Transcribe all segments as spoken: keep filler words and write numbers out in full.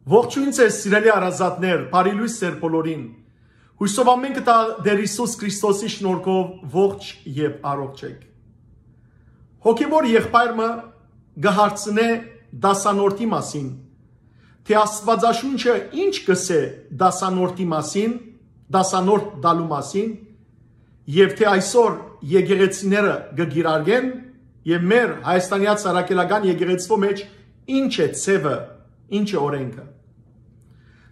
Ողջույն ձեզ, սիրելի հարազատներ, բարի լոյս ձեր բոլորին։ Յուսով ամէն կտա Տեր Յիսուս Քրիստոսի շնորհքով ողջ եւ առողջ եք։ Հոգեվոր եղբայր մը կը հարցնէ դասանորդի մասին, թէ Աստուածաշունչը ինչ կ'ըսէ դասանորդի մասին, դասանորդ տալու մասին, եւ թէ այսօր եկեղեցիները կը կիրարկեն, եւ մեր հայաստանեաց առաքելական եկեղեցւոյ մէջ ինչ է ձեւը, ինչ է օրէնքը։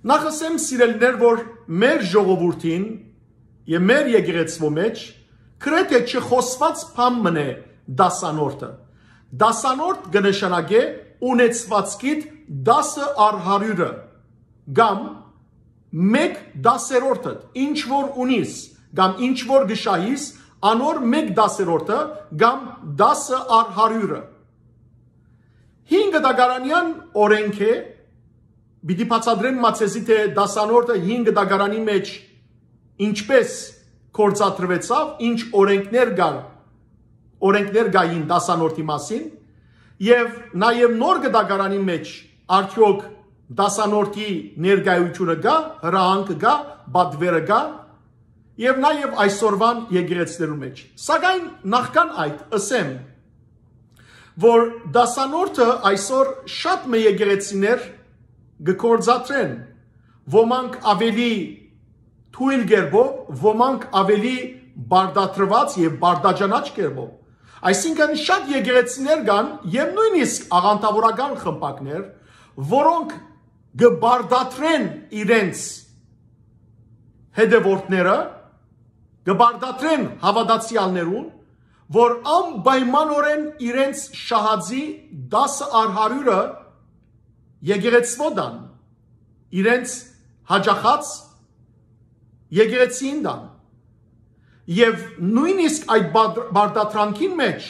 Նախ ըսեմ, սիրելիներ, որ մեր ժողովուրդին եւ մեր եկեղեցւոյ մէջ գրեթէ չխօսուած բան մըն է դասանորդը։ Դասանորդ կը նշանակէ ունեցուածքիդ դասը առ հարիւրը, կամ մէկ դասերորդդ, ինչ որ ունիս, կամ ինչ որ կը շահիս, անոր մէկ դասերորդը, կամ դասը առ հարիւրը։ Հինգ դագարանեան օրէնք է, պիտի բացատրեմ մա ձեզի, թէ դասանորդը հինգ դագարանի մէջ ինչպէս գործադրուեցաւ, ինչ օրէնքներ կար, օրէնքներ կային դասանորդի մասին, եւ նաեւ նոր դագարանի մէջ արդեօք դասանորդի ներկայությունը կա, հրահանգը կա, պատվերը կա, եւ նաեւ այսօրվան եկեղեցիներու մէջ։ Սակայն նախքան այդ, ըսեմ, որ դասանորդը այսօր շատ մը եկեղեցիներ կը գործադրեն, ոմանք աւելի թոյլ կերպով, ոմանք աւելի բարդատրուած եւ բարդաճանաչ կերպով։ Այսինքն, շատ եկեղեցիներ կան եւ նոյնիսկ աղանդաւորական խմբակներ, որոնք կը բարդատրեն իրենց հետեւորդները, կը բարդատրեն հաւատացեալներուն, որ անպայմանօրէն իրենց շահածի դասը առ հարիւրը եկեղեցւոյ տան, իրենց յաճախած եկեղեցիին տան։ Եւ նոյնիսկ այդ բարդ-, բարդատրանքին մէջ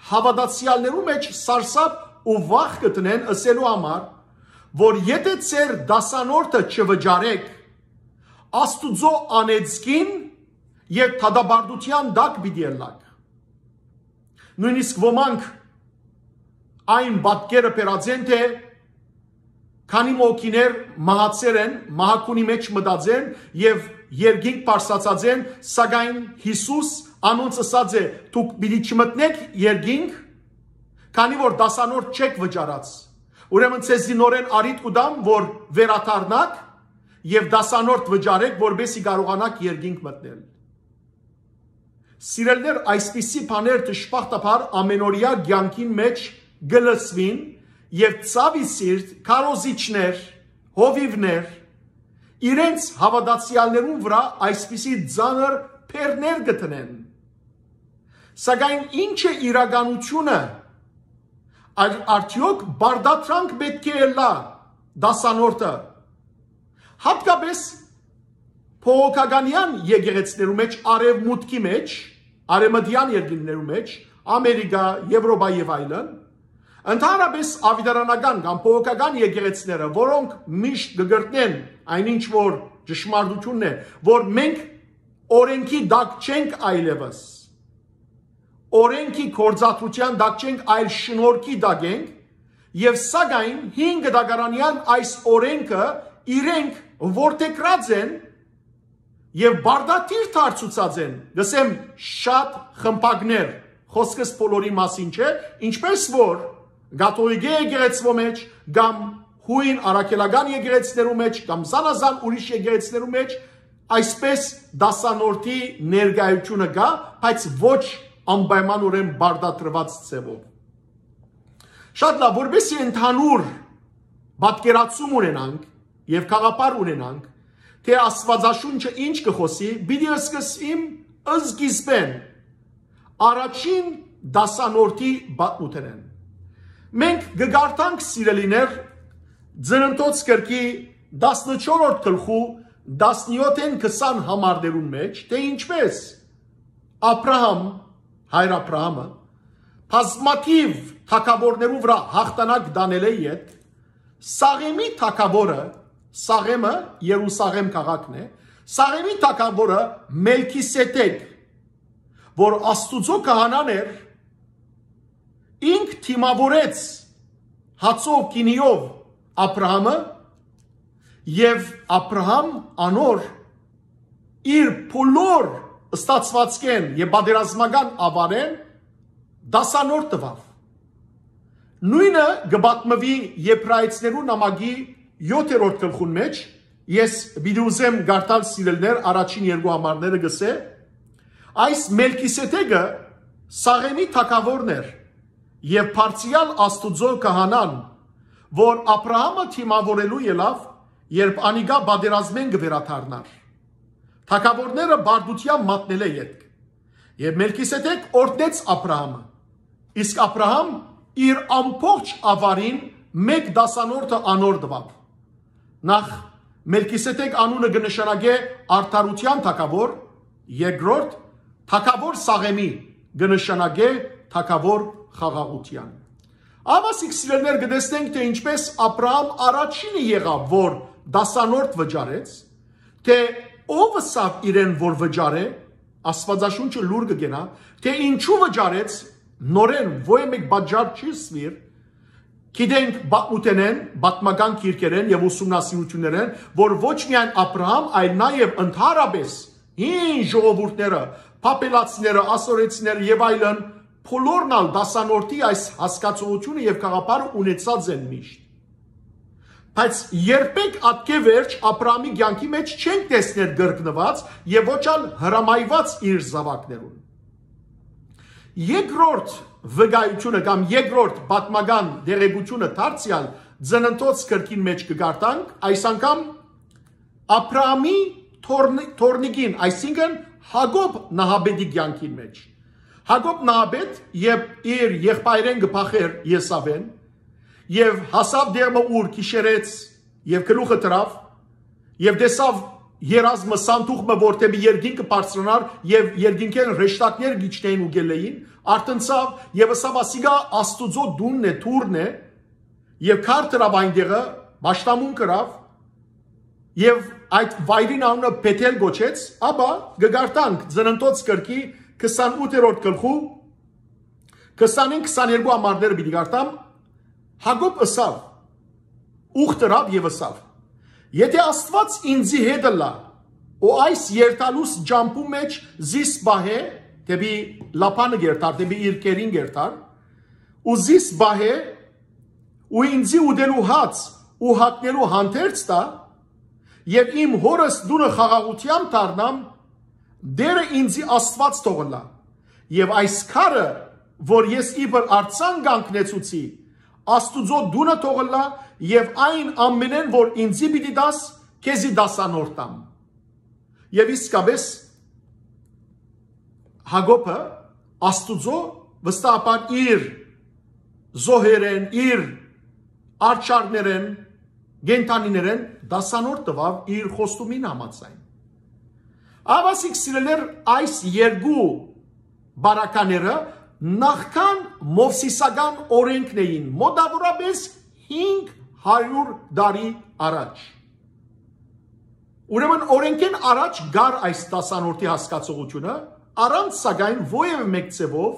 հաւատացեալներու մէջ սարսափ ու վախ կը դնեն, ըսելու համար, որ եթէ ձեր դասանորդը չվճարէք, Աստուծոյ անեծքին եւ դատապարտութեան տակ պիտի ելլաք։ Նոյնիսկ ոմանք այն պատկերը բերած են, թէ քանի մը հոգիներ մահացեր են, մահագունի մէջ մտած են եւ երկինք բարձրացած են, սակայն Յիսուս անոնց ըսած է. «Դուք պիտի չմտնէք երկինք, քանի որ դասանորդ չեք վճարած։ Ուրեմն ձեզի նորէն առիթ կու տամ, որ վերադառնաք եւ դասանորդ վճարէք, որպեսզի կարողանաք երկինք մտնել»։ Սիրելիներ, այսպիսի բաներ դժբախտաբար ամենօրեայ կեանքին մէջ կը լսուին, եւ ցաւի սիրտ քարոզիչներ, հովիւներ իրենց հաւատացեալներուն վրայ այսպիսի ծանր բեռներ կը դնեն։ Սակայն ի՞նչ է իրականութիւնը։ Ա-, արդեօք բարդատրանք պէտք է ըլլա դասանորդը, յատկապէս բողոքականեան եկեղեցիներու մէջ, արեւմուտքի մէջ, արեւմտեան երկիրներու մէջ, Ամերիկա, Եվրոպա եւ այլն, ընդհանրապէս աւետարանական կամ բողոքական եկեղեցիները, որոնք միշտ կը կրկնեն այն ինչ որ ճշմարտութիւնն է, որ մենք օրէնքի տակ չենք այլեւս, օրէնքի գործադրութեան տակ չենք, այլ շնորհքի տակ ենք, եւ սակայն հինգ դագարանեան այս օրէնքը իրենք որդեգրած են եւ բարդաթիր դարձուցած են, գսեմ, շատ խմբակներ, խօսքս բոլորի մասին չէ, ինչպես որ կաթողիկէ եկեղեցւոյ մէջ կամ հույն առաքելական եկեղեցիներու մէջ կամ զանազան ուրիշ եկեղեցիներու մէջ այսպես դասանորդի ներկայությունը կա, բայց ոչ անպայմանօրէն բարդատրուած ձևով։ Շատ լավ, որպեսզի ընդհանուր պատկերացում ունենանք եւ գաղափար ունենանք, թէ Աստուածաշունչը ինչ կը խօսի, պիտի սկսեմ սկիզբէն, առաջին դասանորդի պատմութենէն։ Մենք կը կարդանք, սիրելիներ, Ծննդոց գրքի տասնչորրորդ գլխու տասնեօթ-ին քսան համարներուն մէջ, թէ ինչպես Աբրահամ, հայր Աբրահամը, բազմաթիւ թագաւորներու վրայ յաղթանակ տանելէ յետ, Սաղեմի թագաւորը, Սաղեմը Երուսաղեմ քաղաքն է, Սաղեմի թագաւորը Մելքիսեդեկ, որ Աստուծոյ քահանան էր, ինք դիմաւորեց հացով, գինիով Աբրահամը, Եւ Աբրահամ անոր իր բոլոր ստացուածքէն եւ պատերազմական աւարէն տասանորդ տուաւ։ Նոյնը կը պատմուի Եբրայեցիներու նամակի յոթերորդ գլխուն մէջ, ես պիտի ուզեմ կարդալ, սիրելիներ, առաջին երկու համարները կ'ըսէ. «Այս Մելքիսեդեկը Սաղեմի թագաւորն էր եւ բարձրեալ Աստուծոյ քահանան, որ Աբրահամը դիմաւորելու ելաւ, երբ անիկա պատերազմէն կը վերադառնար, թագաւորները պարտութեան մատնելէ ետք։ Եւ Մելքիսեդեք օրհնեց Աբրահամը, իսկ Աբրահամ իր ամբողջ աւարին մէկ տասանորդը անոր տուաւ»։ Նախ, Մելքիսեդեք անունը կը նշանակէ արդարութեան թագաւոր, երկրորդ, թագաւոր Սաղեմի կը նշանակէ թագաւոր խաղաղութեան։ Ահա, սիրելիներ, կը տեսնենք, թէ ինչպէս Աբրահամ առաջինը եղաւ, որ տասանորդ վճարեց, թէ ով ըսաւ իրեն, որ վճարէ, Աստուածաշունչը լուր կը կենայ, թէ ինչու վճարեց, նորէն ոեւ մէկ պատճառ չի ըսուիր, գիտենք պատմութենէն, պատմական գիրքերէն եւ ուսումնասիրութիւններէն, որ ոչ միայն Աբրահամ, այլ նաեւ ընդհանրապէս հին ժողովուրդները, բաբելացիները, ասորեցիները եւ այլն, բոլորն ալ տասանորդի այս հասկացողութիւնը եւ գաղափարը ունեցած են միշտ։ Բայց երբեք ատկէ վերջ Աբրահամի կեանքի մէջ չենք տեսներ կրկնուած եւ ոչ ալ հրամայուած իր զաւակներուն։ Երկրորդ վկայութիւնը կամ երկրորդ պատմական տեղեկութիւնը դարձեալ Ծննդոց գրքին մէջ կը կարդանք, այս անգամ Աբրահամի թորնի-, թորնիկին, այսինքն Յակոբ նահապետի կեանքին մէջ։ Յակոբ նահապետ, երբ իր եղբայրէն կը փախէր Եսաւէն, եւ հասաւ դերմը, ուր գիշերեց եւ գլուխը դրաւ, եւ տեսաւ երազմը, սանդուղքը, որ դէպի երկինքը բարձրանար եւ երկինքէն հրեշտակներ կ'իջնէին ու կ'ելլէին, արթնցաւ եւ ըսաւ. «Ասիկա Աստուծոյ տունն է, թուրն է»։ Եւ քար դրաւ այնտեղը, պաշտամուն կրաւ, եւ այդ վայրին անունը Բեթել կոչեց, ապա կը կարդանք Ծննդոց գրքի քսանութերորդ գլխու քսանին, քսաներկու համարները պիտի կարդամ։ Յակոբ ըսաւ, ուխ դրաւ եւ ըսաւ. «Եթէ Աստուած ինծի հետ ըլլայ ու այս երթալուս ճամբու մէջ զիս պահէ», դէպի Լաբանը կ'երթար, դէպի իր կերին կ'երթար, «ու զիս պահէ ու ինծի ուտելու հաց ու հագնելու հանդերձ տայ, եւ իմ հօրս տունը խաղաղութեան դառնամ, Տէրը ինծի Աստուած թող ըլլայ, եւ այս քարը, որ ես իբր արձան կանգնեցուցի, Աստուծոյ տունը թող ըլլայ, եւ այն ամենէն, որ ինծի պիտի տաս, քեզի տասանորդ տամ»։ Եւ իսկապէս Յակոբը Աստուծոյ վստահաբար իր զոհերէն, իր աչառներէն, կենդանիներէն տասանորդ տուաւ իր խոստումին համաձայն։ Ահա, սիրելիներ, այս երկու բարակաները նախքան Մովսիսական օրենքն էին, մոտավորապես հինգ հարիւր տարի առաջ։ Ուրեմն օրենքէն առաջ կար այս տասանորդի հասկացողութիւնը, առանց սակայն որեւէ մէկ ձեւով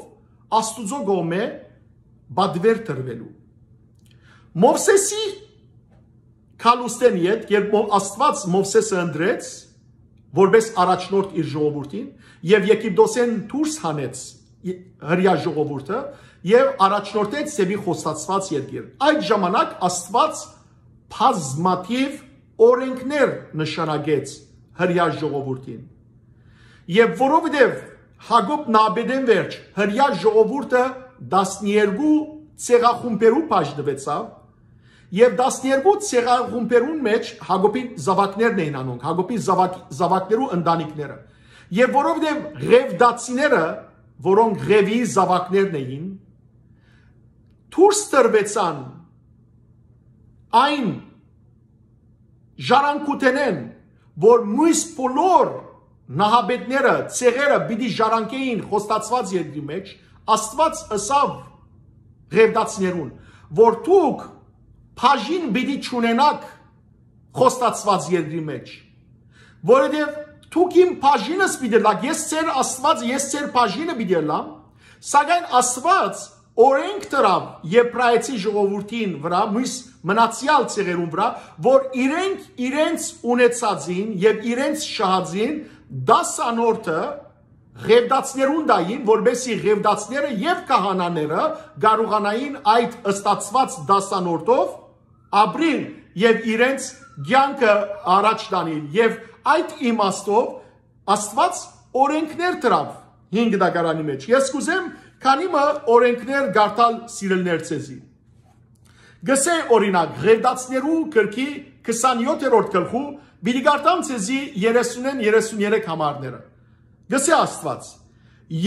Աստուծոյ կողմէ պատուէր տրուելու։ Մովսէսի գալուստէն յետ, երբ Մո-, Աստուած Մովսէսը ընտրեց որպէս առաջնորդ իր ժողովուրդին, եւ Եգիպտոսէն դուրս հանեց ի-, հրեայ ժողովուրդը եւ առաջնորդեց դէպի խոստացուած երկիր։ Այդ ժամանակ Աստուած բազմաթիւ օրենքներ նշանակեց հրեայ ժողովուրդին։ Եւ որովհետեւ Յակոբ նահապետէն վերջ հրեայ ժողովուրդը տասներկու ցեղախումբերու բաժնուեցաւ, եւ տասներկու ցեղախումբերուն մէջ Յակոբին զաւակներն էին անոնք, Յակոբին զաւակ-, զաւակներու ընտանիքները։ Եւ որովհետեւ Ղևտացիները, որոնք Ղևիի զաւակներն էին, դուրս տրուեցան այն ժառանգութենէն, որ միւս բոլոր նահապետները, ցեղերը պիտի ժառանգէին խոստացուած երկրի մէջ, Աստուած ըսաւ Ղևտացիներուն, որ դուք բաժին պիտի չունենաք խոստացուած երկրի մէջ, որովհետեւ դուք իմ բաժինս պիտի ըլլաք, ես ձեր Աստուածը, ես ձեր բաժինը պիտի ըլլամ, սակայն Աստուած օրենք դրաւ Եբրայեցի ժողովուրդին վրայ, մյուս մնացեալ ցեղերուն վրայ, որ իրենք իրենց ունեցածին եւ իրենց շահածին դասանորդը ղեւտացներուն տային, որպեսզի ղեւտացները եւ քահանաները կարողանային այդ ստացուած դասանորդով ապրին եւ իրենց կեանքը առաջ տանին։ Եւ այդ իմաստով Աստուած օրենքներ դրաւ հինգ դագարանի մէջ։ Ես կ'ուզեմ քանի մը օրենքներ կարդալ, սիրելիներ, ձեզի։ Գսե, օրինակ, Ղեւտացիներու գրքի քսանեօթերորդ գլխու, պիտի կարդամ ձեզի երեսունէն երեսուն երեք համարները։ Գսե Աստուած.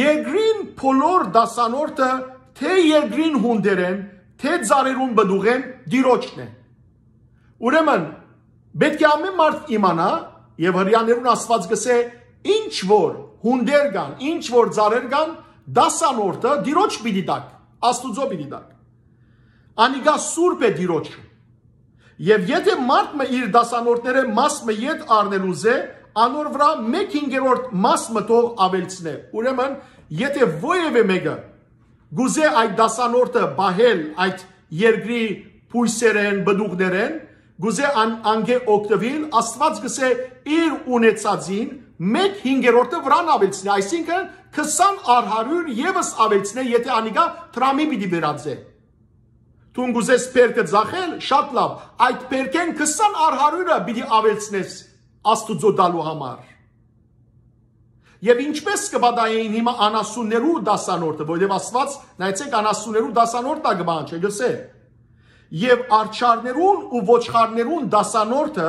«Երկրին բոլոր դասանորդը, թէ երկրին հունդերեն, թէ ծառերուն պտուղեն, Տիրոջն է»։ Ուրեմն, պէտք է ամէն մարդ իմանայ, եւ Հրեաներուն Աստուած գսէ. «Ինչ որ հունդեր կան, ինչ որ ծառեր կան, դասանորդը Տիրոջ պիտի տաք, Աստուծոյ պիտի տաք։ Անիկա սուրբ է Տիրոջը։ Եւ եթէ մարդ մը իր դասանորդներէն մաս մը ետ առնել ուզէ, անոր վրայ մէկ հինգերորդ մաս մը թող աւելցնէ»։ Ուրեմն, եթէ որեւէ մէկը կ'ուզէ այդ դասանորդը պահել այդ երկրի բոյսերէն, պտուղներէն, կ'ուզէ ան, անկէ օգտուիլ, Աստուած գսէ, իր ունեցածին մէկ հինգերորդը վրան աւելցնէ, այսինքն, քսան առ հարիւր եւս աւելցնէ, եթէ անիկա դրամի պիտի վերածէ։ Դուն կ'ուզես բերքը ձախել, շատ լաւ, այդ բերքէն քսան առ հարիւրը պիտի աւելցնես Աստուծոյ տալու համար։ Եւ ինչպե՞ս կը պատահէին հիմա անասուններու դասանորդը, որովհետեւ Աստուած, նայեցէք, անասուններու դասանորդն ա կը պահանջէ, գսէ. «Եւ արջառներուն ու ոչխարներուն դասանորդը,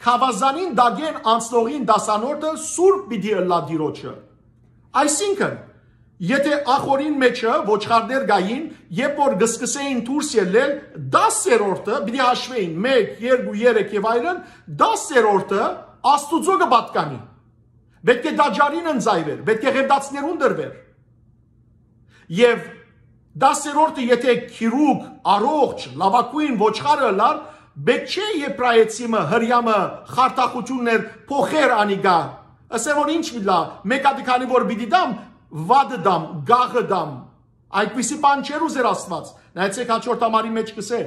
գաւազանին տակէն անցնողին դասանորդը սուրբ պիտի ըլլայ Տիրոջը»։ Այսինքն, եթէ ախորին մէջը ոչխարներ կային, երբ որ կը սկսէին դուրս ելլել, դասերորդը պիտի հաշվէին, մէկ, երկու, երեք եւ այլն, դասերորդը Աստուծոյ կը պատկանի։ Պէտք է տաճարին ընծայուէր, պէտք է ղեւտացիներուն տրուէր։ Եւ դասերորդը, եթէ քիրուկ, առողջ, լաւագոյն ոչխարը ըլլար, պէտք չէ Եբրայեցի մը, Հրեայ մը խարդախութիւններ փոխեր անիկա։ Ասէր որ ինչ պիտի լա, մէկ հատը քանի որ պիտի տամ, վատը տամ, գաղը տամ։ Այդպիսի բան չէր ուզեր Աստուած։ Նայեցէք, հաջորդ համարի մէջ կսէ.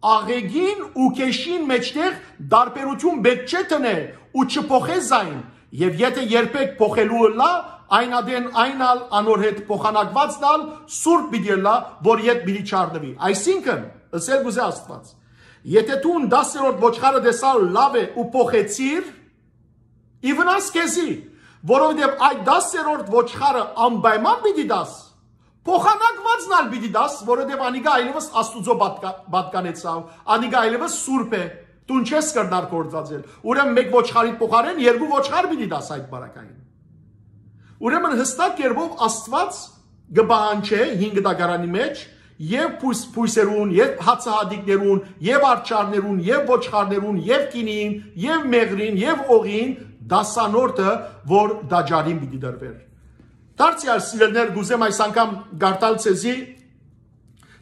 «Աղէկին ու քեշին մէջտեղ տարբերութիւն պէտք չէ դնէ ու չփոխէ զայն, եւ եթէ երբեք փոխելու ըլլայ, այն ատեն այն ալ անոր հետ փոխանակուածն ալ սուրբ պիտի ըլլայ, որ ետ պիտի չառնուի»։ Այսինքն, ըսել կ'ուզէ Աստուած. եթէ դուն դասերորդ ոչխարը տեսար լաւ է ու փոխեցիր, ի վնաս քեզի, որովհետեւ այդ դասերորդ ոչխարը անպայման պիտի տաս, փոխանակուածն ալ պիտի տաս, որովհետեւ անիկա այլեւս Աստուծոյ պատկա-, պատկանեցաւ, անիկա այլեւս սուրբ է, դուն չես կրնար գործածել։ Ուրեմն մէկ ոչխարի փոխարէն երկու ոչխար պիտի տաս այդ բարակային։ Ուրեմն հստակ կերպով Աստուած կը պահանջէ հինգ դագարանի մէջ եւ բոյս-, բոյսերուն, եւ հացահատիկներուն, եւ արջառներուն, եւ ոչխարներուն, եւ գինին, եւ մեղրին, եւ օղին դասանորդը, որ տաճարին պիտի տրուէր։ Դարձեալ, սիրելիներ, կ'ուզեմ այս անգամ կարդալ ձեզի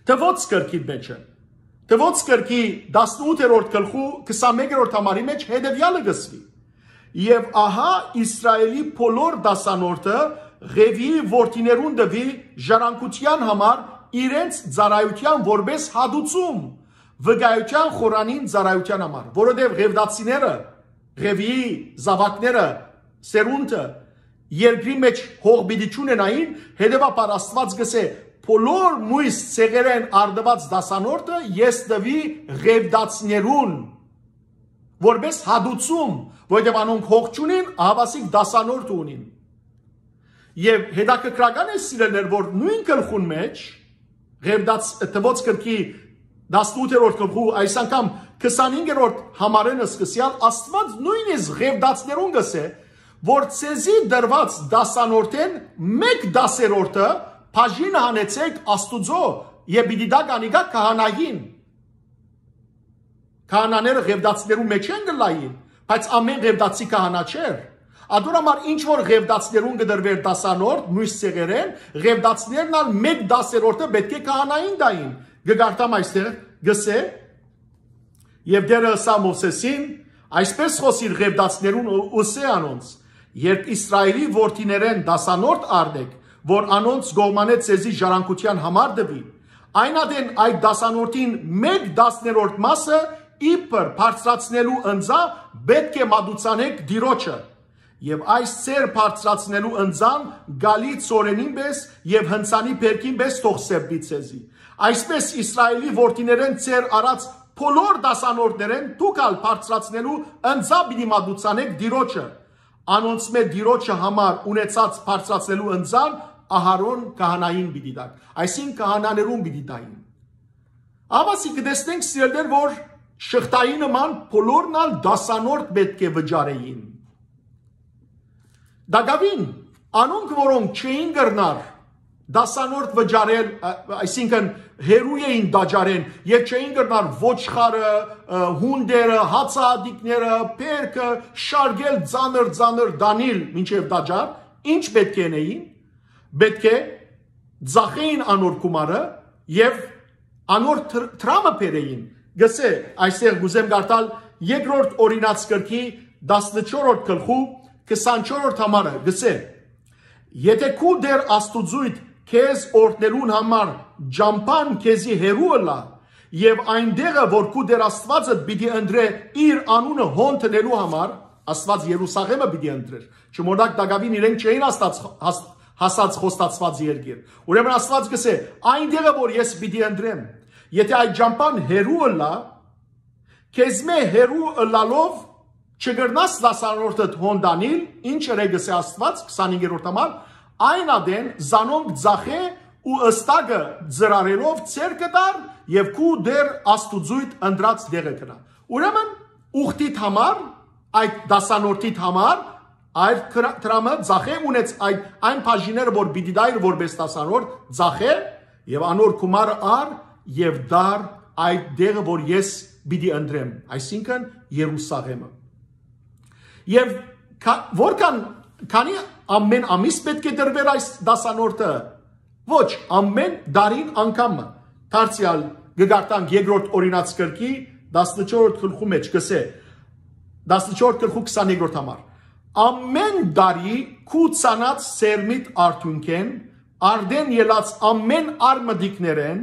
Թվոց գրքին մէջը։ Թվոց գրքի տասնութերորդ գլխու քսանմեկերորդ համարի մէջ հետեւեալը կ'ըսուի. «Եւ ահա Իսրայէլի բոլոր դասանորդը Ղեւիի որդիներուն տուի ժառանգութեան համար իրենց ծառայութեան որպէս հատուցում, վկայութեան խորանին ծառայութեան համար», որովհետեւ ղեւտացիները, Ղեւիի զաւակները, սերունդը երկրի մէջ հող պիտի չունենային, հետեւաբար Աստուած գսէ. «Բոլոր մոյս ցեղերէն առնուած դասանորդը ես տուի ղեւտացիներուն, որպէս հատուցում, որովհետեւ անոնք հող չունին, ահաւասիկ դասանորդ ունին»։ Եւ հետաքրքրական է, սիրելիներ, որ նոյն գլխուն մէջ, Ղեւտաց-, Թվոց գրքի տասնութերորդ գլխու, այս անգամ քսանհինգերորդ համարէն սկսեալ, Աստուած նոյնիսկ ղեւտացիներուն գսէ, որ ձեզի տրուած դասանորդէն մէկ դասերորդը բաժին հանեցէք Աստուծոյ եւ պիտի տաք անիկա քահանային։ Քահանաները ղեւտացիներու մէջէն կ'ըլլային, բայց ամէն ղեւտացի քահանա չէր։ Ատոր համար ինչ որ ղեւտացիներուն կը տրուէր դասանորդ, մոյս ցեղերէն, ղեւտացիներն ալ մէկ դասերորդը պէտք է քահանային տային։ Կը կարդամ այստեղ, գսէ. «Եւ Տէրը ըսաւ Մովսէսին. այսպէս խօսիր ղեւտացիներուն ու ըսէ անոնց. երբ Իսրայէլի որդիներէն դասանորդ առնէք, որ անոնց կողմէ ձեզի ժառանգութեան համար տուի, այն ատեն այդ տասանորդին մէկ տասներորդ մասը իբր բարձրացնելու ընծայ պէտք է մատուցանէք Տիրոջը։ Եւ այս ձեր բարձրացնելու ընծան գալի ծորենին պէս եւ հնցանի բերքին պէս թող սեպուի ձեզի։ Այսպէս Իսրայէլի որդիներէն ձեր առած բոլոր տասանորդներէն դուք ալ բարձրացնելու ընծայ պիտի մատուցանէք Տիրոջը։ Անոնցմէ Տիրոջը համար ունեցած բարձրացնելու ընծան Ահարոն քահանային պիտի տաք, այսինքն՝ քահանաներուն պիտի տային։ Ահա սի կը տեսնենք, սիրելիներ, որ շղթայի նման բոլորն ալ տասանորդ պէտք է վճարէին։ Տակաւին, անոնք, որոնք չէին կրնար տասանորդ վճարել, ա, այսինքն՝ հեռու էին տաճարէն եւ չէին կրնար ոչխարը, ը, հունդերը, հացահատիկները, բերքը շարքել, ծանր-ծանր տանիլ մինչեւ տաճար, ի՞նչ պէտք է ընէին։ Պէտք է ծախէին անոր գումարը եւ անոր թր-, դրամը բերէին։ Գսէ, այստեղ կ'ուզեմ կարդալ Երկրորդ Օրինաց գրքի տասնչորրորդ գլխու քսանչորրորդ համարը, գսէ. «Եթէ քու Տէր Աստուծոյդ քեզ օրհներուն համար ճամբան քեզի հեռու ըլլայ, եւ այն տեղը, որ քու Տէր Աստուածդ պիտի ընտրէ իր անունը հոն դնելու համար», Աստուած Երուսաղէմը պիտի ընտրէր։ Չմոռնաք, տակաւին իրենք չէին հաստատ-, հաս-, հասած խոստացուած երկիր։ Ուրեմն Աստուած կ'ըսէ. «Այն տեղը, որ ես պիտի ընտրեմ, եթէ այդ ճամբան հեռու ըլլայ, քեզմէ հեռու ըլլալով չկրնաս տասանորդդ հոն տանիլ», ինչ ըրէ, կ'ըսէ Աստուած, քսանհինգերորդ համար, «այն ատեն զանոնք ծախէ ու ըստակը ծրարելով ձեռքը տար եւ քու Տէր Աստուծոյդ ընտրած տեղը գնա»։ Ուրեմն ուխտիդ համար, այդ տասանորդիդ համար, այդ դրա-, դրամը ծախէ, ունեց այդ, այն բաժինները, որ պիտի տայր որպես տասանորդ, ծախէ, եւ անոր գումարը առ եւ տար այդ տեղը, որ ես պիտի ընտրեմ, այսինքն՝ Երուսաղէմը։ Եւ քա-, որքան, քանի ամէն ամիս պէտք է տրուէր այս տասանորդը։ Ոչ, ամէն տարին անգամ մը։ Դարձեալ կը կարդանք Երկրորդ Օրինաց գրքի տասնչորրորդ գլխու մէջ, կ'ըսէ, տասնչորրորդ գլխու քսանեքրորդ համար. «Ամէն տարի քու ցանած սերմիդ արդիւնքէն, արդէն ելած ամէն արմատիկներէն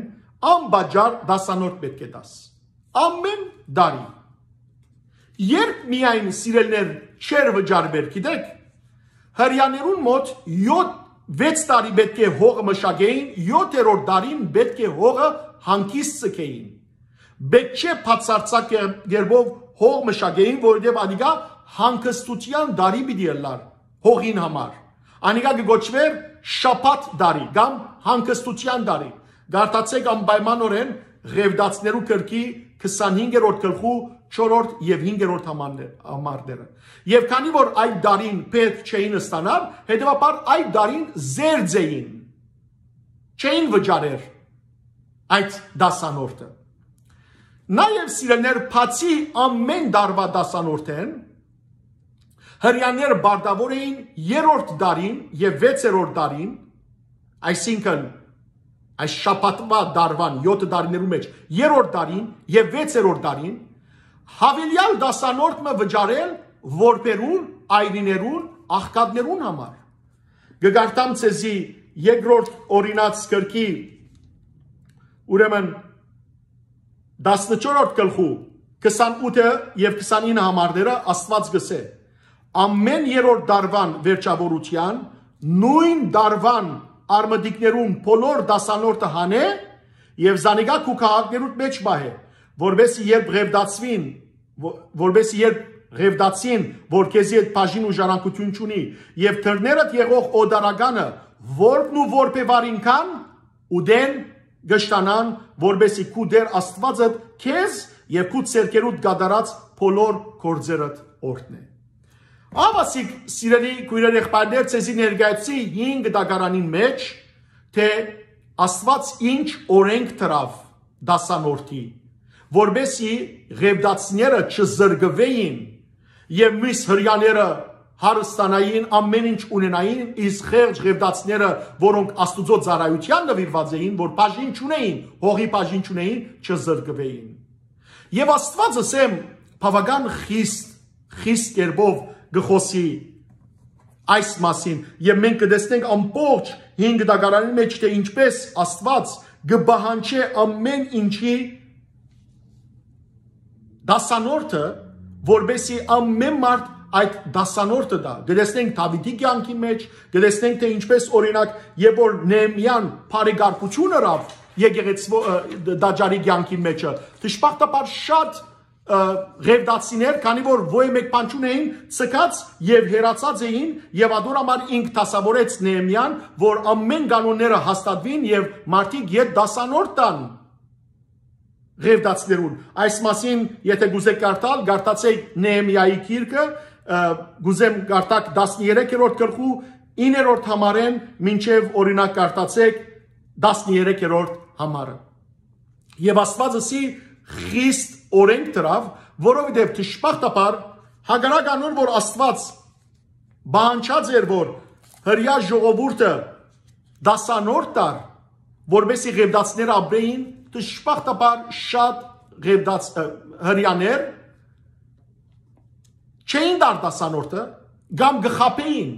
անպատճառ տասանորդ պէտք է տաս»։ Ամէն տարի։ Երբ միայն, սիրելիներ, չէր վճարուեր, գիտեք, Հրեաներուն մօտ յոթ, վեց տարի պէտք է հողը մշակէին, յոթերորդ տարին պէտք է հողը հանգիստ ձգէին։ Պէտք չէ բացարձակ կերպով հող մշակէին, որովհետեւ անիկա հանգստութեան տարի պիտի ըլլար հողին համար։ Անիկա կը կոչուէր շաբաթ տարի կամ հանգստութեան տարի։ Կարդացէք անպայմանօրէն Ղեւտացիներու գրքի քսանհինգերորդ գլխու չորրորդ եւ հինգերորդ համարներ-, համարները։ Եւ քանի որ այդ տարին պէտք չէին ստանար, հետեւաբար այդ տարին զերծ էին, չէին վճարեր այդ տասանորդը։ Նաեւ, սիրելիներ, բացի ամէն տարուայ տասանորդէն, Հրեաները պարտաւոր էին երրորդ տարին եւ վեցերորդ տարին, այսինքն՝ այս շաբաթվա տարուան յոթ տարիներու մէջ, երրորդ տարին եւ վեցերորդ տարին, յաւելեալ տասանորդ մը վճարել որբերուն, այրիներուն, աղքատներուն համար։ Կը կարդամ ձեզի Երկրորդ Օրինաց գրքի, ուրեմն, տասնչորրորդ գլխու քսանութը եւ քսանինը համարները, Աստուած կ'ըսէ. «Ամէն երրորդ տարուան վերջաւորութեան, նոյն տարուան արմատիկներուն բոլոր տասանորդը հանէ եւ զանիկա քու քաղաքներուդ մէջ պահէ, որպէսզի երբ Ղեւտացին, ո-, որպէսզի երբ Ղեւտացին, որ քեզի հետ բաժին ու ժառանգութիւն չունի, եւ դռներդ եղող օտարականը, որբն ու որբեվարին գան, ուտեն, կշտանան, որպէսզի քու Տէր Աստուածդ քեզ եւ քու ձեռքերուդ կատարած բոլոր գործերդ օրհնէ»։ Ահա սիկ, սիրելի քոյրեր, եղբայրներ, ձեզի ներկայացի հին գտակարանին մէջ, թէ Աստուած ինչ օրենք դրաւ տասանորդի, որպէսզի Ղեւտացիները չզրկուէին եւ միս Հրեաները հարստանային, ամէն ինչ ունենային, իսկ խեղճ Ղեւտացիները, որոնք Աստուծոյ ծառայութեան նուիրուած էին, որ բաժին չունէին, հողի բաժին չունէին, չզրկուէին։ Եւ Աստուած, ըսեմ, բաւական խիստ, խիստ կերպով կը խօսի այս մասին, եւ մենք կը տեսնենք ամբողջ հին դագարանի մեջ, թէ ինչպես Աստուած կը պահանջէ ամեն ինչի դասանորդը, որպեսզի ամեն մարդ այդ դասանորդը տայ։ Կը տեսնենք Դաւիթի կեանքի մեջ, կը տեսնենք, թէ ինչպես, օրինակ, երբ որ Նեհեմիան բարեկարգութիւն ըրաւ եկեղեցւոյ, ը, դ-, տաճարի կեանքի մեջը, դժբախտաբար շատ, ը, ղեւտացիներ, քանի որ ոյ մէկ բան չունէին, ցկած եւ հեռացած էին, եւ ադոր համար ինք դասաւորեց Նեհեմիան, որ ամեն կանոնները հաստատուին եւ մարդիկ ետ դասանորդ տան ղեւտացիներուն։ Այս մասին, եթե կ'ուզէք կարդալ, կարդացէք Նեհեմիայի գիրքը, ը, կ'ուզեմ կարդաք տասներեքերորդ գլխու իններորդ համարէն մինչեւ, օրինակ, կարդացէք տասներեքերորդ համարը։ Եւ Աստուած ըսի խիստ օրենք դրաւ, որովհետեւ դժբախտաբար հակառակ անոր, որ Աստուած պահանջած էր, որ հրեայ ժողովուրդը դասանորդ տար, որպեսզի ղեւտացիները ապրէին, դժբախտաբար շատ ղեւտաց-, ը, հրեաներ չէին տար դասանորդը կամ կը խաբէին։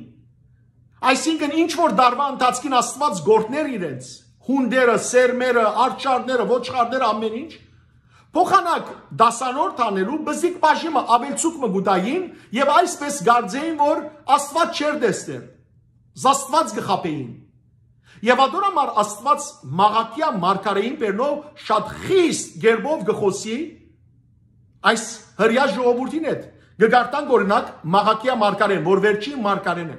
Այսինքն, ինչ որ տարուայ ընթացքին Աստուած գործ էր իրենց, հունդերը, սերմերը, արջառները, ոչխարները, ամեն ինչ, փոխանակ դասանորդ անելու, բզիկ բաժիմը, աւելցուկ մը կու տային եւ այսպես կարծէին, որ Աստուած չէր տեսներ, Աստուած կը խաբէին։ Եւ ադոր համար Աստուած Մաղաքիա մարգարէին բերնով շատ խիստ կերպով կը խօսի այս հրեայ ժողովուրդին հետ։ Կը կարդանք, օրինակ, Մաղաքիա մարգարէն, որ վերջին մարգարէն է։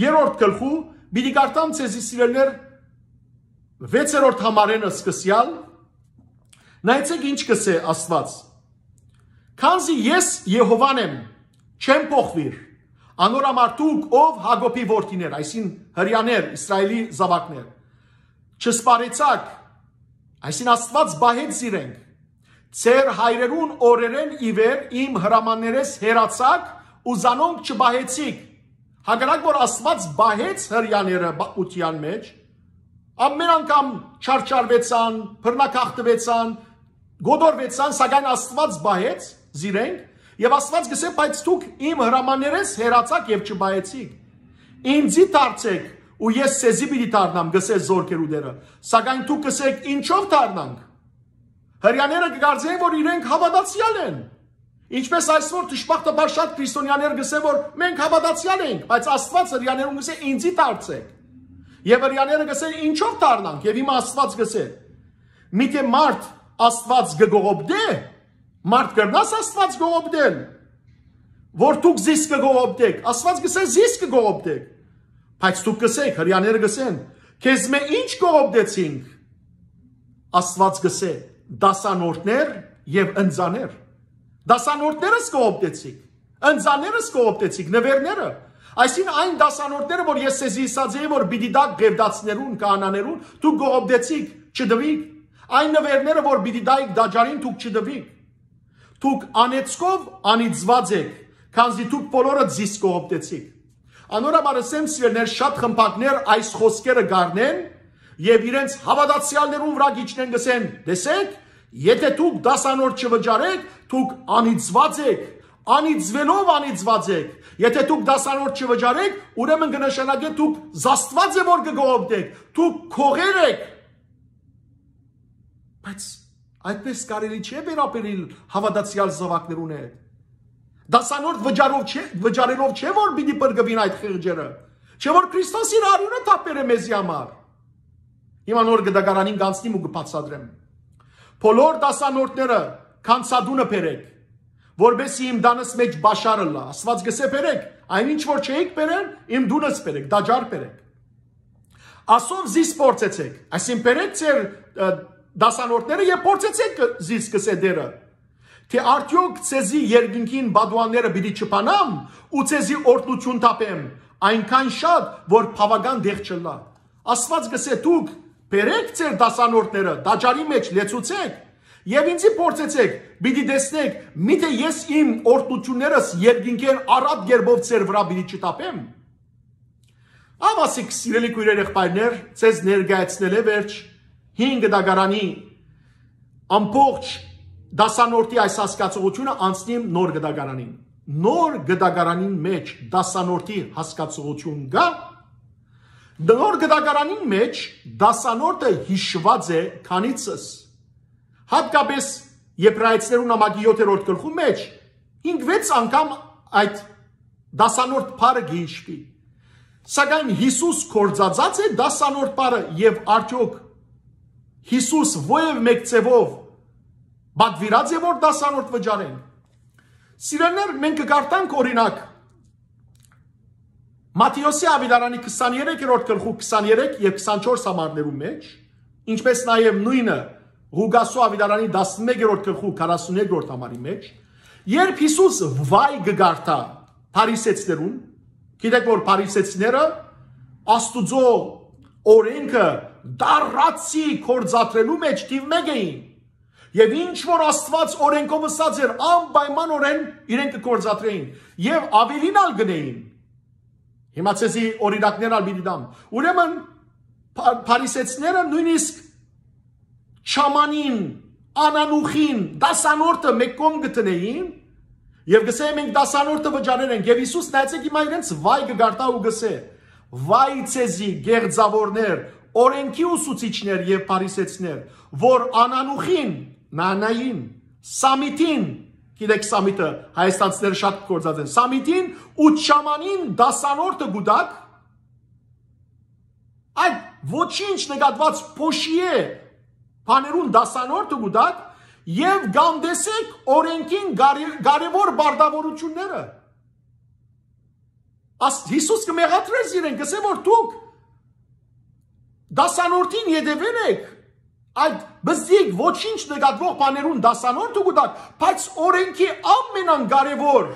Երրորդ գլխու, պիտի կարդամ ձեզի, սիրելիներ, վեցերորդ համարէն սկսեալ, նայեցէք ինչ կ'ըսէ Աստուած. «Քանզի ես Եհովան եմ, չեմ փոխուիր։ Անոր համար դուք, ով Յակոբի որդիներ», այսին հրեաներ, Իսրայէլի զաւակներ, «չսպարեցաք», այսին Աստուած պահեց զիրենք, «ձեր հայրերուն օրերէն ի վեր իմ հրամաններէս հեռացաք ու զանոնք չպահեցիք»։ Հակառակ որ Աստուած պահեց հրեաները պատմութեան մեջ, ամեն անգամ չարչարուեցան, բռնագաղթուեցան, գոդորուեցան, սակայն Աստուած պահեց զիրենք, եւ Աստուած կ'ըսէ. «Բայց դուք իմ հրամաններէս հեռացաք եւ չպահեցիք։ Ինձի դարձէք ու ես ձեզի պիտի դառնամ», կ'ըսէ Զորքերու Տէրը։ Սակայն դուք կ'ըսէք. «Ինչո՞վ դառնանք»։ Հրեաները կը կարծեն, որ իրենք հաւատացեալ են։ Ինչպես այսօր դժբախտաբար շատ քրիստոնեաներ կ'ըսեն, որ մենք հաւատացեալ ենք, բայց Աստուած հրեաներուն կ'ըսէ. «Ինձի դարձէք»։ Եւ հրեաները կ'ըսեն. «Ինչո՞վ դառնանք»։ Եւ հիմա Աստուած կ'ըսէ. «Միթէ մարդ Աստուած կը կողոպտէ, մարդ կրնաս Աստուած կողոպտել, որ դուք զիս կը կողոպտէք»։ Աստուած կ'ըսէ. «Զիս կը կողոպտէք»։ Բայց դուք կ'ըսէք, հրեաները կ'ըսեն. «Քեզմէ ի՞նչ կողոպտեցինք»։ Աստուած կ'ըսէ. «Դասանորդներ եւ ընծաներ»։ Դասանորդներս կողոպտեցիք, ընծաներս կողոպտեցիք, նուէրները։ Այսինքն, այն դասանորդները, որ ես ձեզի ըսած էի, որ պիտի տաք ղեւտացիներուն, քահանաներուն, դուք կողոպտեցիք, չտուիք։ Այն նուէրները, որ պիտի տայիք տաճարին, դուք չտուիք։ Դուք անեծքով անիծուած էք, քանզի դուք բոլորը զիս կողոպտեցիք։ Անոր համար ըսեմ, սիրելիներ, շատ խմբակներ այս խօսքերը կ'առնեն եւ իրենց հաւատացեալներուն վրայ կ'իջնեն, կ'ըսեն. «Տեսէք, եթէ դուք դասանորդ չվճարէք, դուք անիծուած էք, անիծուելով անիծուած էք։ Եթէ դուք դասանորդ չվճարէք, ուրեմն կը նշանակէ դուք զաստուած է որ կը կողոպտէք, դուք քողեր էք»։ Բայց այդպես կարելի չէ վերաբերիլ հաւատացեալ զաւակներուն հետ։ Դասանորդ վճարով չէ, վճարելով չէ որ պիտի փրկուին այդ խեղճերը, չէ որ Քրիստոս իր արիւնը թափեր է մեզի համար։ Հիմա Նոր Կտակարանին կանցնիմ ու կբացատրեմ։ Բոլոր դասանորդները գանձատունը բերեք, որպեսզի իմ տանս մեջ պաշար ըլլայ։ Աստուած կ'ըսէ. «Բերեք, այն ինչ որ չէիք բերեր, իմ տունս բերեք, տաճար բերեք։ Ասով զիս փորձեցեք», այսինքն բերեք ձեր, ը, դասանորդները եւ փորձեցեք, կը-, զիս, կ'ըսէ Տէրը, «թէ արդեօք ձեզի երկնքին պատուանները պիտի չփանամ ու ձեզի օրհնութիւն թափեմ, այնքան շատ, որ բաւական տեղ չըլլայ»։ Աստուած կ'ըսէ. «Դուք բերեք ձեր դասանորդները, տաճարի մեջ լեցուցեք եւ ինձի փորձեցեք, պիտի տեսնեք, միթէ ես իմ օրհնութիւններս երկնքէն առատ կերպով ձեր վրայ պիտի չթափեմ»։ Ահա, սիրելի քոյրեր, եղբայրներ, ձեզ ներկայացնել է վերջ հին կտակարանի ամբողջ դասանորդի այս հասկացողությունը, անցնիմ նոր կտակարանին։ Նոր գտակարանին մէջ դասանորդի հասկացողութիւն կա։ Նոր գտակարանին մէջ դասանորդը յիշուած է քանիցս, հատկապէս Եբրայեցիներու նամակի յոթերորդ գլխու մէջ հինգ-վեց անգամ այդ դասանորդ բառը կը յիշուի։ Սակայն Յիսուս գործածած է դասանորդ բառը, եւ արդեօք Յիսուս որեւէ մէկ ձեւով պատուիրած է, որ դասանորդ վճարեն։ Սիրելիներ, մենք կը կարդանք, օրինակ, Մատթէոսի աւետարանի քսաներեքերորդ գլխու քսաներեք եւ քսանչորս համարներու մէջ, ինչպէս նաեւ նոյնը Ղուկասու աւետարանի տասնմեկերորդ գլխու քառասուներկրորդ համարի մէջ, երբ Յիսուս վայ կը գարտայ փարիսեցիներուն, գիտէք որ փարիսեցիները Աստուծոյ օրէնքը դառացի գործադրելու մէջ թիւ մէկ էին, եւ ինչ որ Աստուած օրէնքով ըսած էր, անպայմանօրէն իրենք կը գործադրէին եւ աւելին ալ կ'ընէին։ Հիմա ձեզի օրինակներ ալ պիտի տամ։ Ուրեմն, փա-, փարիսեցիները նոյնիսկ չամանին, անանուխին, դասանորդը մէկ կողմ կը դնէին եւ կ'ըսէին, «Մենք դասանորդը վճարեր ենք»։ Եւ Յիսուս, նայեցէք, հիմա իրենց վայ կը գարտայ ու կ'ըսէ, «Վայ ձեզի, կեղծաւորներ, օրէնքի ուսուցիչներ եւ փարիսեցիներ, որ անանուխին, նանային, սամիթին», գիտեք, սամիթը հայաստանցիները շատ կը գործածեն, «սամիթին ու չամանին դասանորդը կու տաք», այդ ոչինչ նկատուած փոշիե բաներուն դասանորդը կու տաք եւ կ'անտեսէք օրէնքին կարի-, կարեւոր պարտաւորութիւնները։ Աս-, Յիսուս կը մեղադրէ իրեն, կ'ըսէ որ դուք դասանորդին ետեւեր էք, այդ բզդիկ ոչինչ նկատվող բաներուն դասանորդը կու տաք, բայց օրէնքի ամենակարեւոր